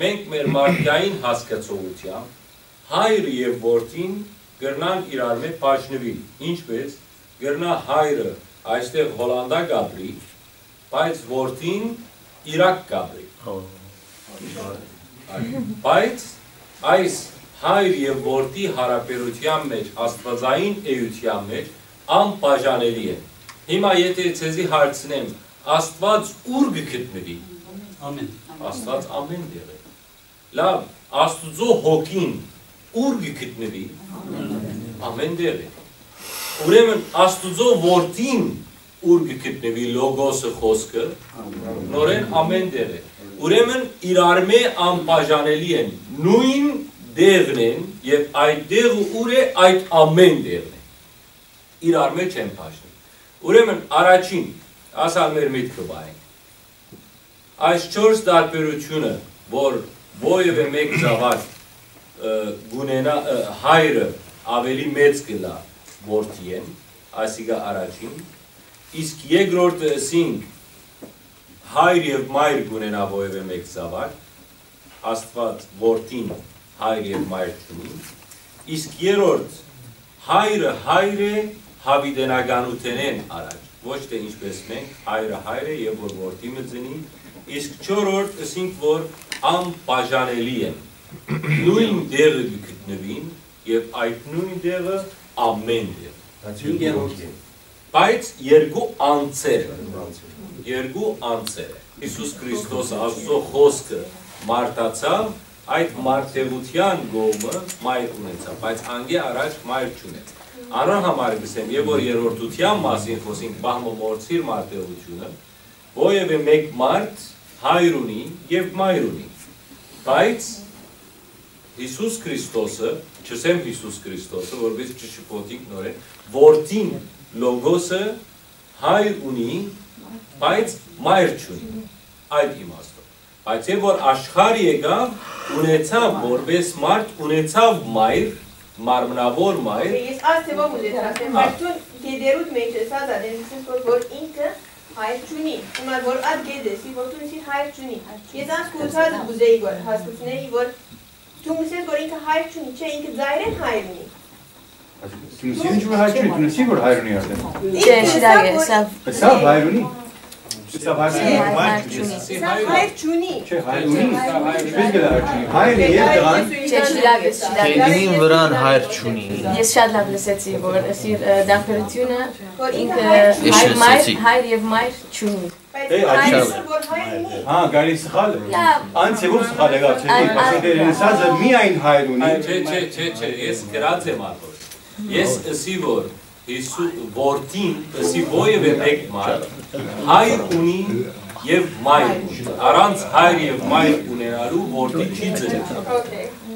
Մենք մեր մարդկային հասկացողութեամբ հայրը եւ որդին կրնան իրար մէջ բաժնուիլ, ինչպէս կրնայ հայրը այստեղ Հոլանտա կ'ապրի, բայց որդին Իրաք կ'ապրի։ Բայց այս հայր եւ որդի յարաբերութեան մէջ, աստուածային էութեան մէջ անբաժանելի են։ Հիմա եթե ձեզի հարցնեմ, Աստուած ո՞ւր կը գտնուի։ Ամէն։ Աստուած ամէն տեղ է։ Լավ, Աստուծոյ հոգին ո՞ւր կը գտնուի։ Ամէն տեղ է։ Ուրեմն Աստուծոյ որդին ո՞ւր կը գտնուի, Լոգոսը, խօսքը, նորէն ամէն տեղ է։ Ուրեմն իրար մէջ անբաժանելի են, նոյն տեղն են, եւ այդ տեղը ո՞ւր է, այդ ամէն տեղն է։ Իրար մէջ չեն բաժնի։ Ուրեմն առաջին, ասալ մեր միտքը պահենք։ Այս չորս տարբերութիւնը, որ որեւէ մէկ զաւակ, ը, կ'ունենայ, ը, հայրը աւելի մեծ կ'ըլլայ որդիէն, ասիկա առաջին, իսկ երկրորդը ըսինք, հայր եւ մայր կ'ունենայ որեւէ մէկ զաւակ, Աստուած որդին հայր եւ մայր չունի, իսկ երրորդ հայրը հայր է յաւիտենականութենէն առաջ, ոչ թէ ինչպէս մենք, հայրը հայր է եւ որ որդի մը ծնի, իսկ չորրորդ ըսինք, որ անբաժանելի են, նոյն տեղը կը գտնուին եւ այդ նոյն տեղը ամէն տեղ։ Բայց երկու անձեր են։ Երկու անձեր են։ Յիսուս Քրիստոսը, Աստուծոյ խօսքը, մարդացաւ, այդ մարդեղութեան կողմը մայր ունեցաւ, բայց անկէ առաջ մայր չունեց։ Անոր համար կ'ըսեմ, եւ որ երրորդութեան մասին խօսինք, պահ մը մոռցիր մարդեղութիւնը, որեւէ մէկ մարդ հայր ունի եւ մայր ունի, բայց Յիսուս Քրիստոսը, չըսեմ Յիսուս Քրիստոսը, որպէս չշփոթինք նորէն, որդին Լոգոսը հայր ունի, բայց մայր չունի, այդ իմաստով։ Բայց եւ որ աշխարհ եկաւ, ունեցաւ որպէս մարդ, ունեցաւ մայր, մարմնաւոր մայր։ Ես այս թեմով ուզեցի ասեմ, Հա։ Բայց դուն գեդերուդ մեջ ես ասած, ատեն ասես որ, որ ինքը հայր չունի, հիմա որ այդ գեդեսի, որ դուն սիր հայր չունի։ Ես այս կուսած կուզեի որ հասկացնեի, որ Դու ըսես, որ ինքը հայր չունի, չէ, ինքը ծայրէն հայր ունի։ Դու ըսես, որ հայր չունի, դու ըսես, որ հայր ունի արդեն։ Չէ, շիրակ է, սա։ Սա հայր ունի։ Սա հայր չունի։ Հայր, հայր չունի։ Սա հայր չունի։ Չէ, հայր ունի։ Ինչպես գլա հայր չունի։ Հայր է, երբ տղան։ Չէ, շիրակ է, շիրակ է։ Կեդինին վրան հայր չունի։ Ես շատ լավ լսեցի, որ ասիր, ը, դարբերությունը, որ ինքը ինքը հայր, մայր, լսեցի։ Հայր եւ մայր չունի։ Բայց Դե, հայր աջա։ Սա որ հայր ունի։ Հա, գալի սխալ։ Լավ։ Անց է որ սխալ եղավ, չէ՞, Ան-, պաշտոնը ան-, դերենսազը միայն հայր ունի։ Չէ, չէ, չէ, չէ, ես գրած եմ ատոր։ Ես ըսի, որ Հիսու-, որդին, ըսի, ովեւէ մէկ մայր, հայր ունի եւ մայր ունի։ Առանց հայր եւ մայր ունենալու որդի չի ծնի։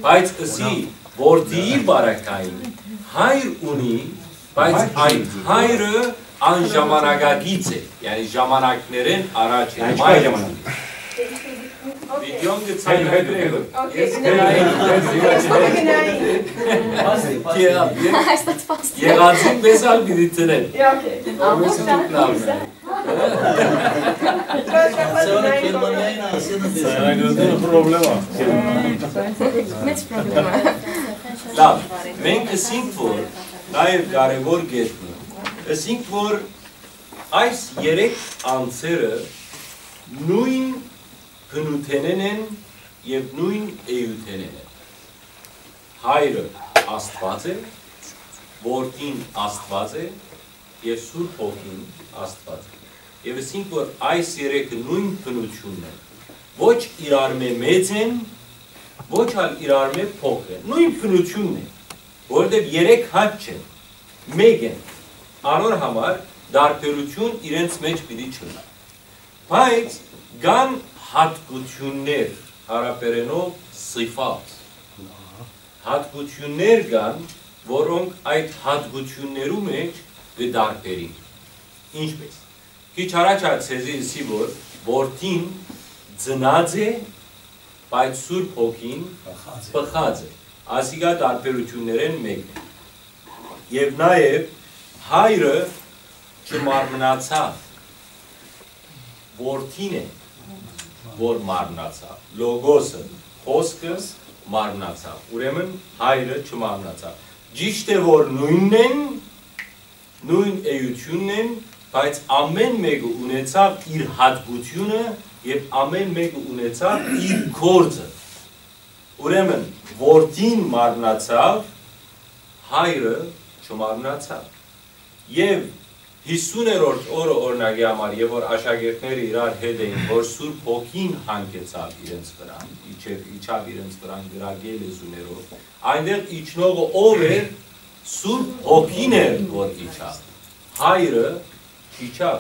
Բայց ըսի, որդիի բարակային հայր ունի, բայց այդ հայրը անժամանակակից է, յանի ժամանակներէն առաջ է, մայր ունի։ Վիդեոն կը ցայնայ դուք։ Ես կնայեմ։ Ե-, ե-, Այս տած փաստ։ Եղածին պես ալ պիտի ծնեն։ Ամուր շատ լավն է։ Սա պրոբլեմա։ Մեծ պրոբլեմա։ Լավ, մենք ըսինք, որ նաեւ կարեւոր կետ մը, ըսինք, որ այս երեք անձերը նոյն բնութենէն են եւ նոյն էութենէն են։ Հայրը Աստուած է, որդին Աստուած է եւ Սուրբ Հոգին Աստուած է։ Եւ ըսինք, որ այս երեքը նոյն բնութիւնն են, ոչ իրարմէ մեծ են, ոչ ալ իրարմէ փոքր են, նոյն բնութիւնն է, որովհետեւ երեք հատ չեն, մէկ են, անոր համար տարբերութիւն իրենց մէջ պիտի չլինի։ Բայց կան յատկութիւններ, արաբերէնով սիֆատ, յատկութիւններ կան, որոնք այդ յատկութիւններու մէջ կը տարբերին։ Ինչպէս, քիչ առաջ ալ ձեզի ըսի, որ որդին ծնած է, բայց Սուրբ Հոգին պղած է։ Պղած է։ Ասիկա տարբերութիւններէն մէկն է։ Եւ նաեւ հայրը չմարմնացաւ, որդին է, որ մարմնացաւ։ Լոգոսը, խօսքը մարմնացաւ։ Ուրեմն հայրը չմարմնացաւ։ Ճիշդ է, որ նոյնն են, նոյն էութիւնն են, բայց ամէն մէկը ունեցաւ իր յատկութիւնը եւ ամէն մէկը ունեցաւ իր գործը։ Ուրեմն, որդին մարմնացաւ, հայրը չմարմնացաւ։ Եւ յիսուներորդ օրը, օրինակի համար, եւ որ աշակերտները իրար հետ էին, որ Սուրբ Հոգին հանգեցաւ իրենց վրան, իջեւ, իջաւ իրենց վրան, կրակէ լեզուներով, այնտեղ իջնողը ով էր, Սուրբ Հոգին էր, որ իջաւ։ Հայրը չիջաւ,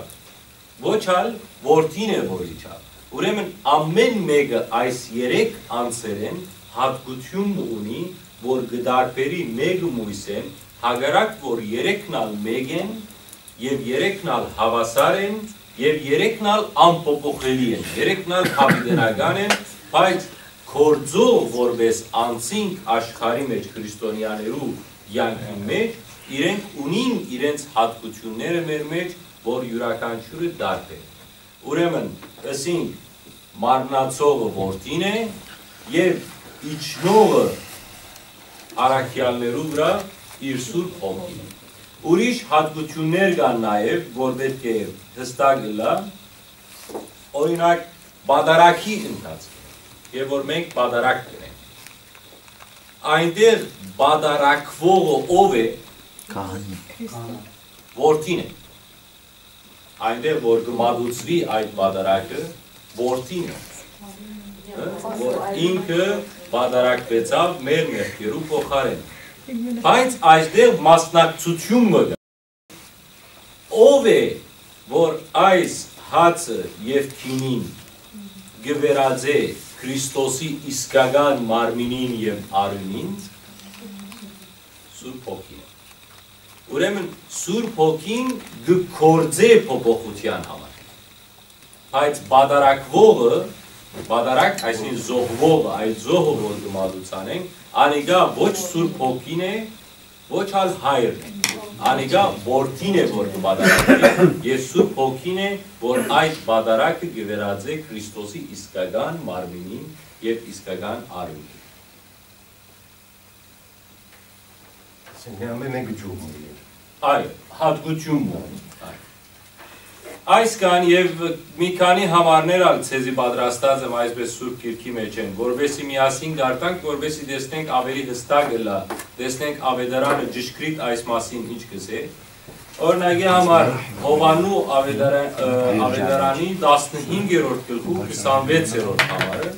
ոչ ալ որդին է, որ իջաւ։ Ուրեմն ամէն մէկը այս երեք անձերէն յատկութիւն մը ունի, որ կը տարբերի մէկը մոյսէն, հակառակ որ երեքն ալ մէկ են եւ երեքն ալ հաւասար են եւ երեքն ալ անփոփոխելի են, երեքն ալ յաւիտենական են, բայց գործող որպէս անձինք աշխարհի մէջ քրիստոնեաներու կեանքին մէջ, իրենք ունին իրենց յատկութիւնները մեր մէջ, որ իւրաքանչիւրը տարբեր է։ Ուրեմն, ըսինք, մարմնացողը որդին է եւ իջնողը առաքեալներու վրայ իր Սուրբ Հոգին է։ Ուրիշ յատկութիւններ կան նաեւ, որ պէտք է յստակ ըլլայ, օրինակ, պատարագի ընթացքին, եւ որ մենք պատարագ կ'ընենք, այնտեղ պատարագվողը ով է։ Քահանին։ Որդին է։ Այնտեղ որ կը մատուցուի այդ պատարագը, որդին է, հը, որ ինքը պատարագվեցաւ մեր մեղքերու փոխարէն։ Բայց այստեղ մասնակցութիւն մը կա։ Ով է, որ այս հացը եւ գինին կը վերածէ Քրիստոսի իսկական մարմինին եւ արիւնին, Սուրբ Հոգին է։ Ուրեմն Սուրբ Հոգին կը գործէ փոփոխութեան համար։ Բայց պատարագվողը, պատարագ, այսինքն զոհվողը, այդ զոհը, որ կը մատուցանենք, անիկա ոչ Սուրբ Հոգին է, ոչ ալ հայրն է։ Անիկա որդին է, որ կը պատարագի, եւ Սուրբ Հոգին է, որ այդ պատարագը կը վերածէ Քրիստոսի իսկական մարմինին եւ իսկական արիւնին։ Սենյակը մեկը ջուրն է։ Այո, հատկություն մը։ Այո։ Այսքան եւ մի քանի համարներ ալ ձեզի պատրաստած եմ այսպես Սուրբ Գիրքի մեջ են, որովհետեւ միասին կարդանք, որովհետեւ տեսնենք ավելի հստակ ըլլայ, տեսնենք Ավետարանը ճշգրիտ այս մասին ինչ կսէ։ Օրինակի համար, Յովհաննու Ավետարա-, ը, Ավետարանի տասնհինգերորդ գլխու քսանվեցերորդ համարը։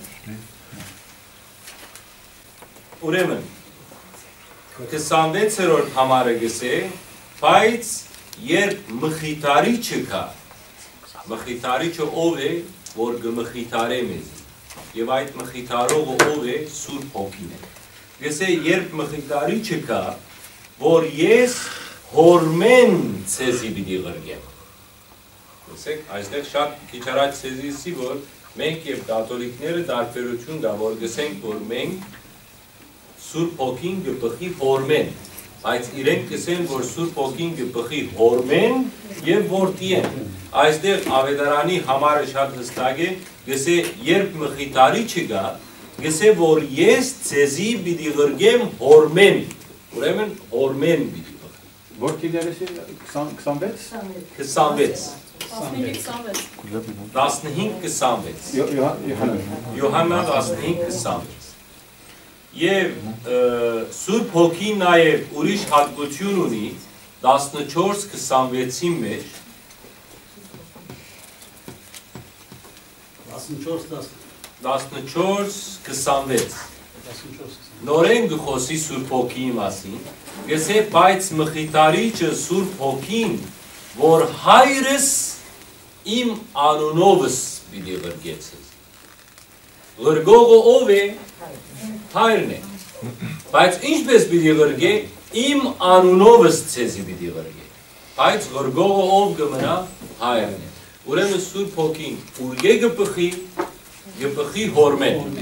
Ուրեմն, քսանվեցերորդ համարը կսէ, բայց երբ Մխիթարիչը գայ, Մխիթարիչը ով է, որ կը մխիթարէ մեզի, եւ այդ մխիթարողը ով է, Սուրբ Հոգին է։ Կսէ, երբ Մխիթարիչը գայ, որ ես Հօրմէն ձեզի պիտի ղրկեմ։ Տեսեք, այստեղ շատ քիչ առաջ ձեզի ասի, որ մենք եւ կաթոլիկները տարբերություն կայ, որ կսենք, որ մենք Սուրբ Հոգին կը բխի Հօրմէն, բայց իրենք կսեն, որ Սուրբ Հոգին կը բխի Հօրմէն եւ Որդիէն։ Այստեղ Ավետարանի համարը շատ հստակ է, կսէ, երբ Մխիթարիչը գայ, կսէ, որ ես ձեզի պիտի ղրկեմ Հօրմէն, ուրեմն Հօրմէն պիտի բխի։ Որ դիլերեսի քսան, քսանվեց։ Քսանվեց։ Տասնհինգ քսանվեց։ Տասնհինգ քսանվեց։ Յո-, Յոհան-, Յոհաննա։ Յոհաննա տասնհինգ քսանվեց։ Եւ, ը, Սուրբ Հոգին նաեւ ուրիշ հատկություն ունի, տասնչորս քսանվեցին մեջ, Տասնչորս տաս։ Տասնչորս քսանվեց։ Տասնչորս տաս։ Նորէն կը խօսի Սուրբ Հոգիի մասին, կսէ, բայց Մխիթարիչը Սուրբ Հոգին, որ հայրս իմ անունովս պիտի ղրկեցես։ Ղրկողը ով է, հայրն է։ Բայց ինչպես պիտի ղրկէ, իմ անունովս ձեզի պիտի ղրկէ։ Բայց ղրկողը ով կը մնայ, հայրն է։ Ուրեմն Սուրբ Հոգին ուրկէ կը բխի, կը բխի Հօրմէն։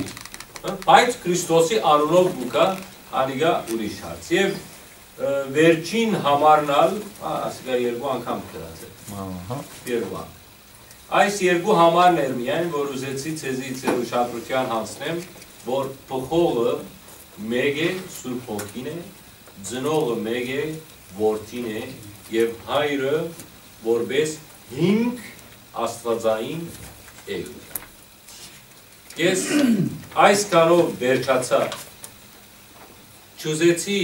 Հա, բայց Քրիստոսի անունով կու գայ, անիկա ուրիշ հարց։ Եւ, ը, վերջին համարն ալ, ա, ասիկա երկու անգամ գրած է։ Ահա։ Երկու անգամ։ Այս երկու համարն էր միայն, որ ուզեցի ձեզի ձեր ուշադրութեան հանձնեմ, որ բխողը մէկ է, Սուրբ Հոգին է, ծնողը մէկ է, Որդին է, եւ հայրը որպես հիմք աստվածային էութեան։ Ես այսքանով վերջացայ, չուզեցի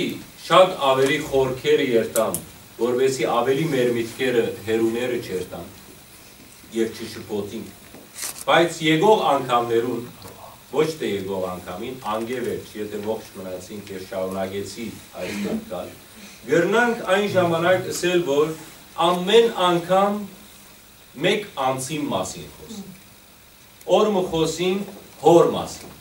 շատ աւելի խորքերը երթամ, որպեսզի աւելի մեր միտքերը հեռուները չերթան եւ չշփոթին։ Բայց եկող անգամներուն, ոչ թէ եկող անգամին, անկէ վերջ, եթէ ողջ մնացինք եւ շարունակեցի այս մտքալ, կրնանք այն ժամանակ ըսել, որ ամէն անգամ մէկ անձին մասին խօսենք։ Օր մը խօսինք հօր մասին,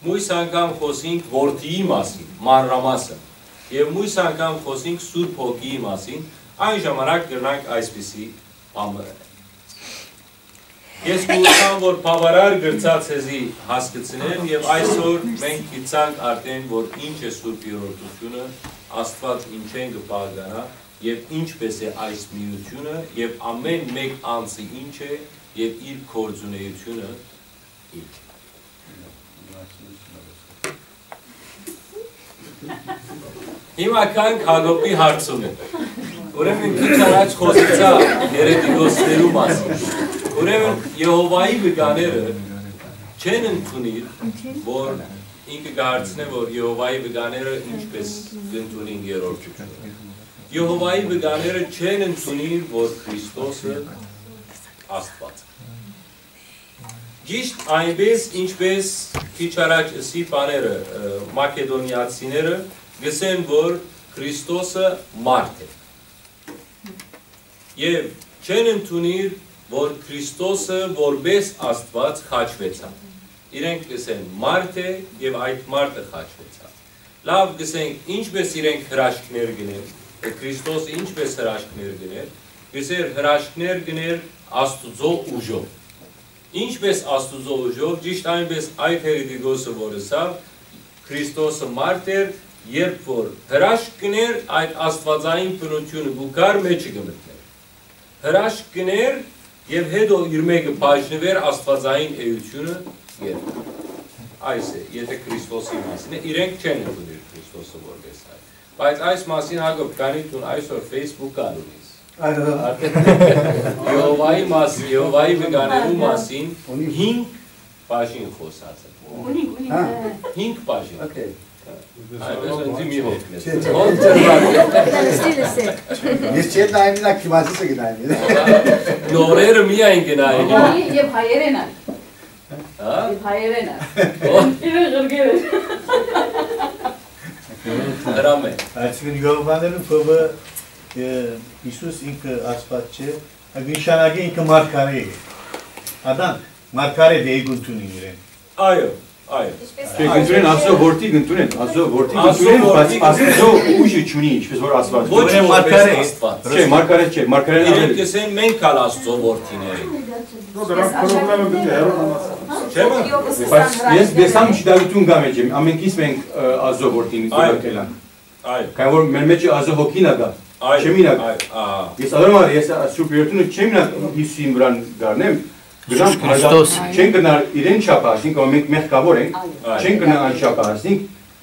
մոյս անգամ խօսինք որդիի մասին, մանրամասն, եւ մոյս անգամ խօսինք Սուրբ Հոգիի մասին, այն ժամանակ կրնանք այսպիսի բան մը։ Ես կ'ուզեմ, որ բավարար գրծա ձեզի հասկցնեմ, եւ այսօր մենք գիտցանք արդեն, որ ինչ է Սուրբ Երրորդությունը, Աստուած ինչէն կը բաղկանայ, եւ ինչպես է այս միությունը, եւ ամէն մէկ անձը ինչ է, եւ իր գործունեությունը ինչ է։ Հիմա գանք Յակոբի հարցումը։ Ուրեմն քիչ առաջ խօսեցայ երետիկոսներու մասին։ Ուրեմն Եհովայի վկաները չեն ընդունիր, որ ինքը կը հարցնէ, որ Եհովայի վկաները ինչպես կ'ընդունին երրորդությունը։ Եհովայի վկաները չեն ընդունիր, որ Քրիստոսը Աստուած է։ Ճիշտ այնպես, ինչպես քիչ առաջ ըսի բաները, ը, մակեդոնիացիները կ'ըսեն, որ Քրիստոսը մարդ է։ Եւ չեն ընդունիր, որ Քրիստոսը որպես Աստուած խաչուեցաւ։ Իրենք կ'ըսեն, մարդ է եւ այդ մարդը խաչուեցաւ։ Լաւ, կ'ըսենք, ինչպես իրենք հրաշքներ կ'ընեն, Քրիստոսը ինչպես հրաշքներ կ'ընէր, կ'ըսէր, հրաշքներ կ'ընէր Աստուծոյ ուժով։ Ինչպես Աստուծոյ ուժով, ճիշտ այնպես այդ երետիկոսը, որ ըսաւ, Քրիստոսը մարդ էր, երբ որ հրաշք կ'ընէր, այդ աստուածային բնությունը կու գար, մեջը կը մտնէր։ Հրաշք կ'ընէր եւ հետո իր մէկը բաժնուէր, աստուածային էությունը երբ։ Այս է, եթէ Քրիստոսի մասին է, իրենք չեն ընդունիր Քրիստոսը որպես այդ։ Բայց այս մասին, Յակոբ, քանի դուն այսօր Facebook ալ ունիս, այո, արդեն Եհովայի մաս-, Եհովայի վկաներու մասին հինգ բաժին խօսած է։ Ունինք, ունինք։ Հա։ Հինգ բաժին։ Okay։ Այդպես ինձի մի հոգնես։ Չէ, չէ, Հոն չէ, չէ։ Ես չեմ նայում, նա քիմացի չգնայ։ Նորերը միայն գնային։ Եվ հայերեն ա։ Հա։ Եվ հայերեն ա։ Ո։ Իրեն ղրկել են։ Հրամե։ Այսինքն Յովհաննէն փովը, ը, Յիսուս ինքը Աստուած չէ, ա, կնշանակէ ինքը մարգարէ է։ Ադանք, մարգարէ դէ կ'ընդունին իրեն։ Այո, այո։ Չէ, կ'ընդունեն Աստծո որդի, կ'ընդունեն, Աստծո որդի Աստծո կ'ընդունեն, բայց որդի Աստծո ուժը չունի, ինչպես որ Աստուած։ Ոչ որպես մարգարէ։ Աստուած։ Չէ, մարգարէ չէ, մարգարէն իրենք ավել։ Կ'ըսեն մենք ալ Աստծո որդիներ ենք։ Դրանք պրոբլեմը պիտի հեռու մնաց։ Չէ՞, մը։ Բայց ես դեսամ չդավիթուն գամ էջեմ, ամենքիս մենք, ը, Աստծո որդին Այո։ Կելան։ Այո։ Քանի որ մեր մեջ Աստծո հոգին ա գա, Այո, չեմ ինակ։ Այո, ահա։ Ես ադարմար, ես Սուրբ Երդունը չեմ ինակ Յիսուսին վրան գարնեմ, Յիսուս գնամ Քրիստոս։ Չեն գնար իրեն չափ ասինք, որ մենք մեղքավոր ենք, Այո։ Չեն գնար անչափ ասինք,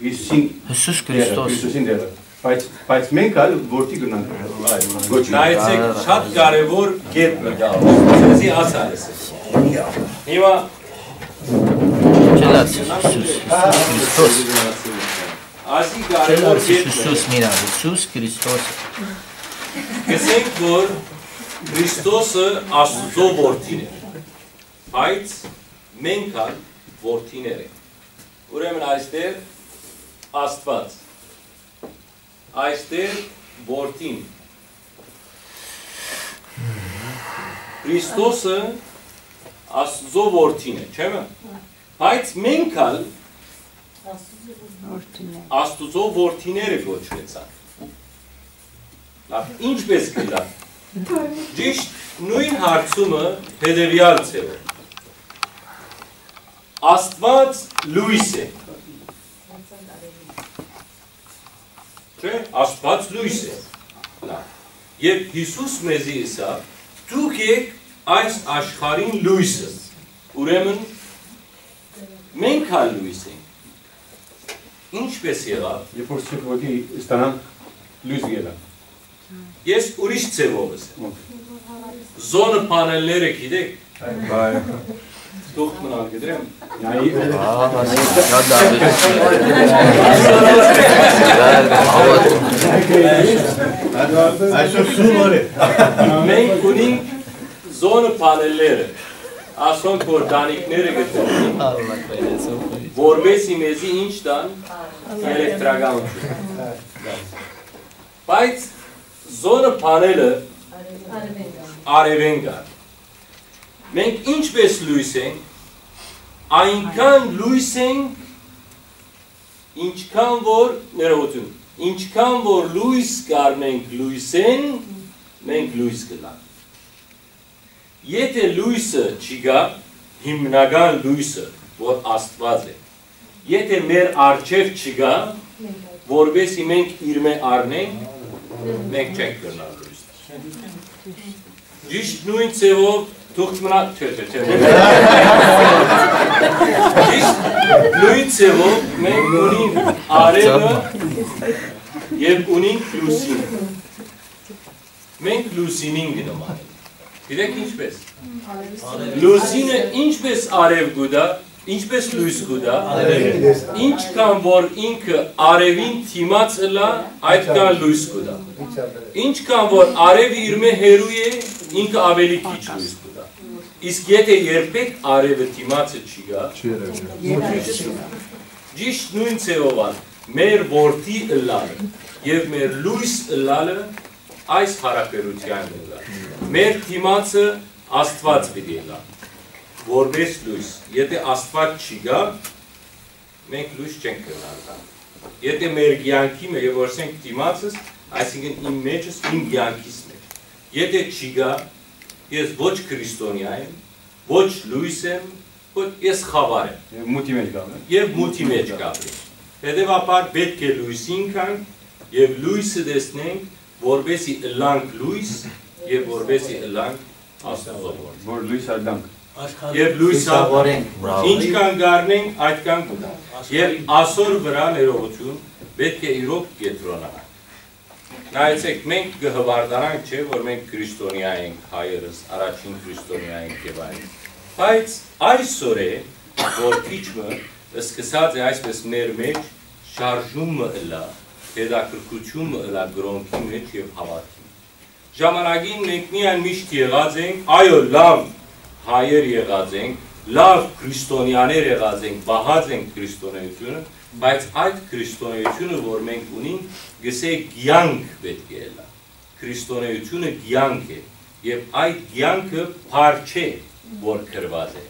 Յիսուսին Յիսուս դերը, Քրիստոս։ Յիսուսին դերը։ Բայց, բայց մենք ալ որդի գնանք։ Այո։ Ոչ մի։ Նայեցեք, շատ կարևոր կետ մը կա, սեզի ասա ես։ Հիմա Չելաց Յիսուս, Յիսուս Քրիստոս։ Ասի կարևոր Չելաց կետ մը։ Յիսուս մինա, Յիսուս Քրիստոս։ Կսենք, որ Քրիստոսը Աստուծո որդին էր, բայց մենք ալ որդիներ ենք։ Ուրեմն այստեղ Աստուած, այստեղ որդին, Քրիստոսը Աստուծո որդին է, չէ՞, մը։ Բայց մենք ալ Որդիներ։ Աստուծո որդիները կոչուեցան։ Լավ, ինչպես կլա։ Ճիշտ նույն հարցումը հետևյալ ձևով։ Աստուած լոյս է։ Չէ, Աստուած լոյս է։ Լավ։ Երբ Յիսուս մեզի ըսաւ, «Դուք էք այս աշխարհին լոյսը», ուրեմն մենք ալ լոյս ենք։ Ինչպես եղաւ։ Երբ որ Սուրբ Ոգի ստանանք, լոյս կ'ելանք։ Ես ուրիշ ձևով եմ։ Ո՞ն։ Զոնը փանելները գիտեք։ Այո։ Թուղթ մնալ գդրեմ։ Այ- Ահա, շատ լավ է։ Այսօր սուլոր է։ Մենք ունենք զոնը փանելները, ասոնք որ տանիքները գտնեն, որպեսի մեզի ինչ տան, էլեկտրականություն։ Բայց զոնը փանելը արևեն կար։ Մենք ինչպես լոյս ենք, այնքան լոյս ենք, ինչքան որ, ներողություն, ինչքան որ լոյս կառնենք լոյսէն, մենք լոյս կլանք։ Եթէ լոյսը չկայ, հիմնական լոյսը, որ Աստուած է, եթէ մեր առջեւ չկայ, որպեսզի մենք իրմէ առնենք, մենք չենք կրնար լոյս։ Ճիշտ նոյն ձեւով թուղթ մնա, չէ, չէ, չէ։ Ճիշտ նոյն ձեւով մենք ունենք արեւը եւ ունենք լուսինը։ Մենք լուսինին կը նմանենք։ Գիտեք ինչպես։ Լուսինը ինչպես արեւ կու տայ, ինչպես լոյս կու տայ, ինչքան որ ինքը արեւին դիմաց ըլլայ, այդքան լոյս կու տայ։ Ինչքան որ արեւը իրմէ հեռու է, ինքը ավելի քիչ լոյս կու տայ։ Իսկ եթէ երբեք արեւը դիմացը չի գայ, ճիշտ նոյն ձեւով ալ մեր որդի ըլլալը եւ մեր լոյս ըլլալը այս յարաբերութեան ըլլայ։ Մեր դիմացը Աստուած պիտի ըլլայ, որպես լոյս։ Եթէ Աստուած չի գայ, մենք լոյս չենք կրնար տալ։ Եթէ մեր կեանքի մը, եւ որ ասենք դիմացս, այսինքն իմ մեջս, իմ կեանքիս մեջ, եթէ չի գայ, ես ոչ քրիստոնեայ եմ, ոչ լոյս եմ, ոչ ես խաւար եմ։ Եւ մութի մեջ կ'ապրեմ։ Եւ մութի մեջ կ'ապրեմ։ Հետեւաբար պէտք է լոյսին գանք եւ լոյսը տեսնենք, որպեսի ըլլանք լոյս եւ որպեսի ըլլանք Աստուծո որդի։ Որ լոյս ըլլանք։ Եւ լոյս ըլլանք։ Բրավո։ Ինչքան կառնենք, այդքան կտանք։ Եւ ասոր վրայ ներողություն պէտք է իրոք կեդրոնանանք։ Նայեցէք, մենք կը հպարտանանք, չէ՞, որ մենք քրիստոնեայ ենք, հայերս առաջին քրիստոնեայ ենք եւ այլն։ Բայց այսօր է, որ քիչ մը սկսած է այսպես մեր մեջ շարժում մը ըլլայ, հետաքրքրութիւն մը ըլլայ կրօնքի մեջ եւ հաւատքի մեջ։ Ժամանակին մենք միայն միշտ եղած ենք, այո, լաւ հայեր եղած ենք, լաւ քրիստոնեաներ եղած ենք, պահած ենք քրիստոնեութիւնը, բայց այդ քրիստոնեութիւնը, որ մենք ունենք, գսե կեանք պէտք է ըլլայ։ Քրիստոնեութիւնը կեանք է, եւ այդ կեանքը փառ չէ, որ գրուած է։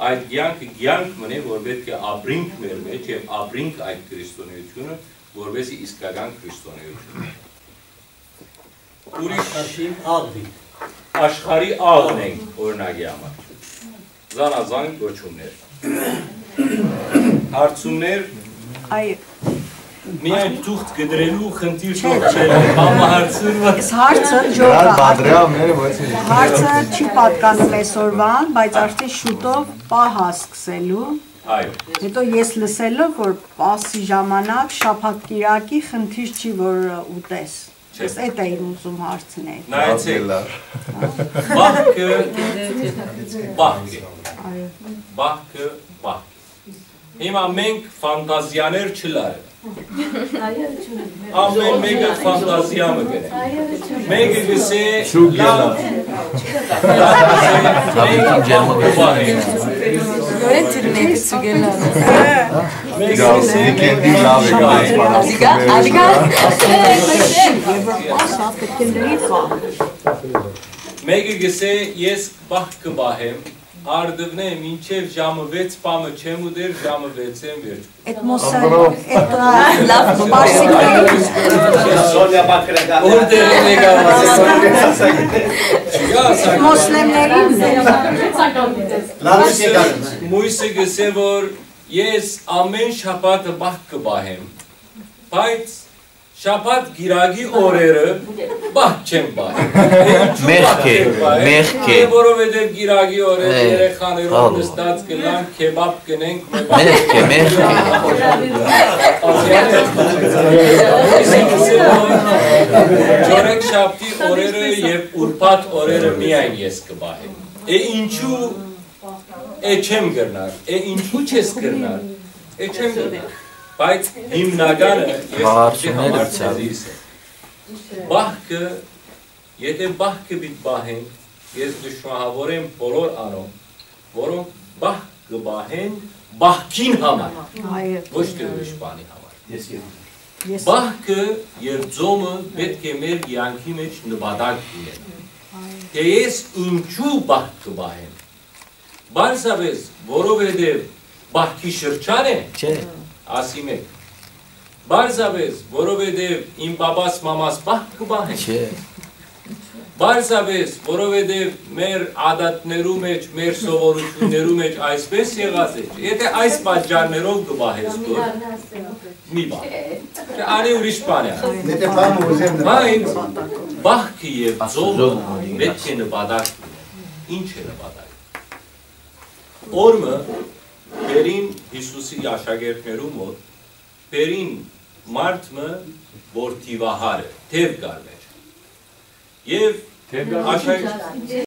Այդ կեանքը կեանք մըն է, որ պէտք է ապրինք մեր մեջ եւ ապրինք այդ քրիստոնեութիւնը, որպեսզի իսկական քրիստոնեութիւն է։ Ուրիշ Աշին աղվի։ Աշխարհի աղն ենք, օրինակի համար։ Զանազան կոչումներ։ Հարցումներ։ Այ, միայն թուղթ կտրելու խնդիր չոր չէ, համահարցումը։ Այս հարցը ջոկա։ Պատրիարքները ոչ մի։ Հարցը չի պատկանում այսօրվան, բայց արդեն շուտով պահ ա սկսելու։ Այո։ Հետո ես լսելով, որ պասի ժամանակ շաբաթ կիրակի խնդիր չի, որ ուտես։ Չէ։ Ես էդ էի ուզում հարցնել։ Նայեցեք, լավ, լավ։ Բահքը բահք է։ Այո։ Բահքը բահք է։ Հիմա մենք ֆանտազիաներ չլարենք։ Ամեն մեկը ֆանտազիա մը կրե։ Մեկը գսե, լավ, Հավիքին ջերմագործում է։ Նորեն թիռ մեկը ցուգելան։ Մեկը գսե, Վիկենդի լավ է գալիս, Ալիգա, ալիգա։ Մեկը գսե, ես բահ կը պահեմ, արդունե մինչև ժամը վեց պամը չեմ ուտեր, ժամը վեցեն վերջ։ Այդ մոսա, այդ, ա, լավ, պարսիկների։ Սոնյա Բաքրական։ Որտեղ եկա, Չկա, սա մոսլեմներինն է։ Լավ, մույսը, չկա։ Մույսը գսե, որ ես ամեն շաբաթը բահ կը պահեմ, բայց շաբաթ կիրակի օրերը բահ չեմ պահի։ Մեղք է, մեղք է։ Դե որովհետև կիրակի օրերը երեխաներով նստած կլանք, քեբաբ կնենք, մեղք է, մեղք է։ Չորեքշաբթի օրերը եւ ուրբաթ օրերը միայն ես կպահեմ։ Է ինչու է չեմ կրնար, է ինչու չես կրնար, է չեմ կրնար։ Բայց հիմնականը ես Հարցումներ համար ուցան։ Ձեզի սեմ։ Բահքը, եթե բահքը պիտի պահենք, ես կշնորհավորեմ բոլոր անոնք, որոնք բահ կը պահեն բահքին համար, այո, ոչ թե ուրիշ բանի համար։ Ես կերեմ։ Ես Բահքը եւ ձոմը պէտք է մեր կեանքի մեջ նպատակ ունենան։ Դե ես ինչու բահ կը պահեմ։ Պարզապէս, որովհետեւ բահքի շրջան է, չէ, ասի մէկ։ Պարզապէս, որովհետեւ իմ պապաս մամաս բահ կը պահեն, չէ, պարզապէս, որովհետեւ մեր ադատներու մեջ, մեր սովորութիւններու մեջ այսպես եղած է, եթե այս պատճառներով կը պահես, որ մի բան, անի ուրիշ բան է։ Եթե բանը ուզեմ նպատակ, բայց բահքը եւ ձողը պետք է նպատակ ունեն։ Ինչ է նպատակ։ Օրը բերին Յիսուսի աշակերտներու մոտ, բերին մարդ մը, որ դիվահար է, թեւ կար մեր։ Եվ աշակ-,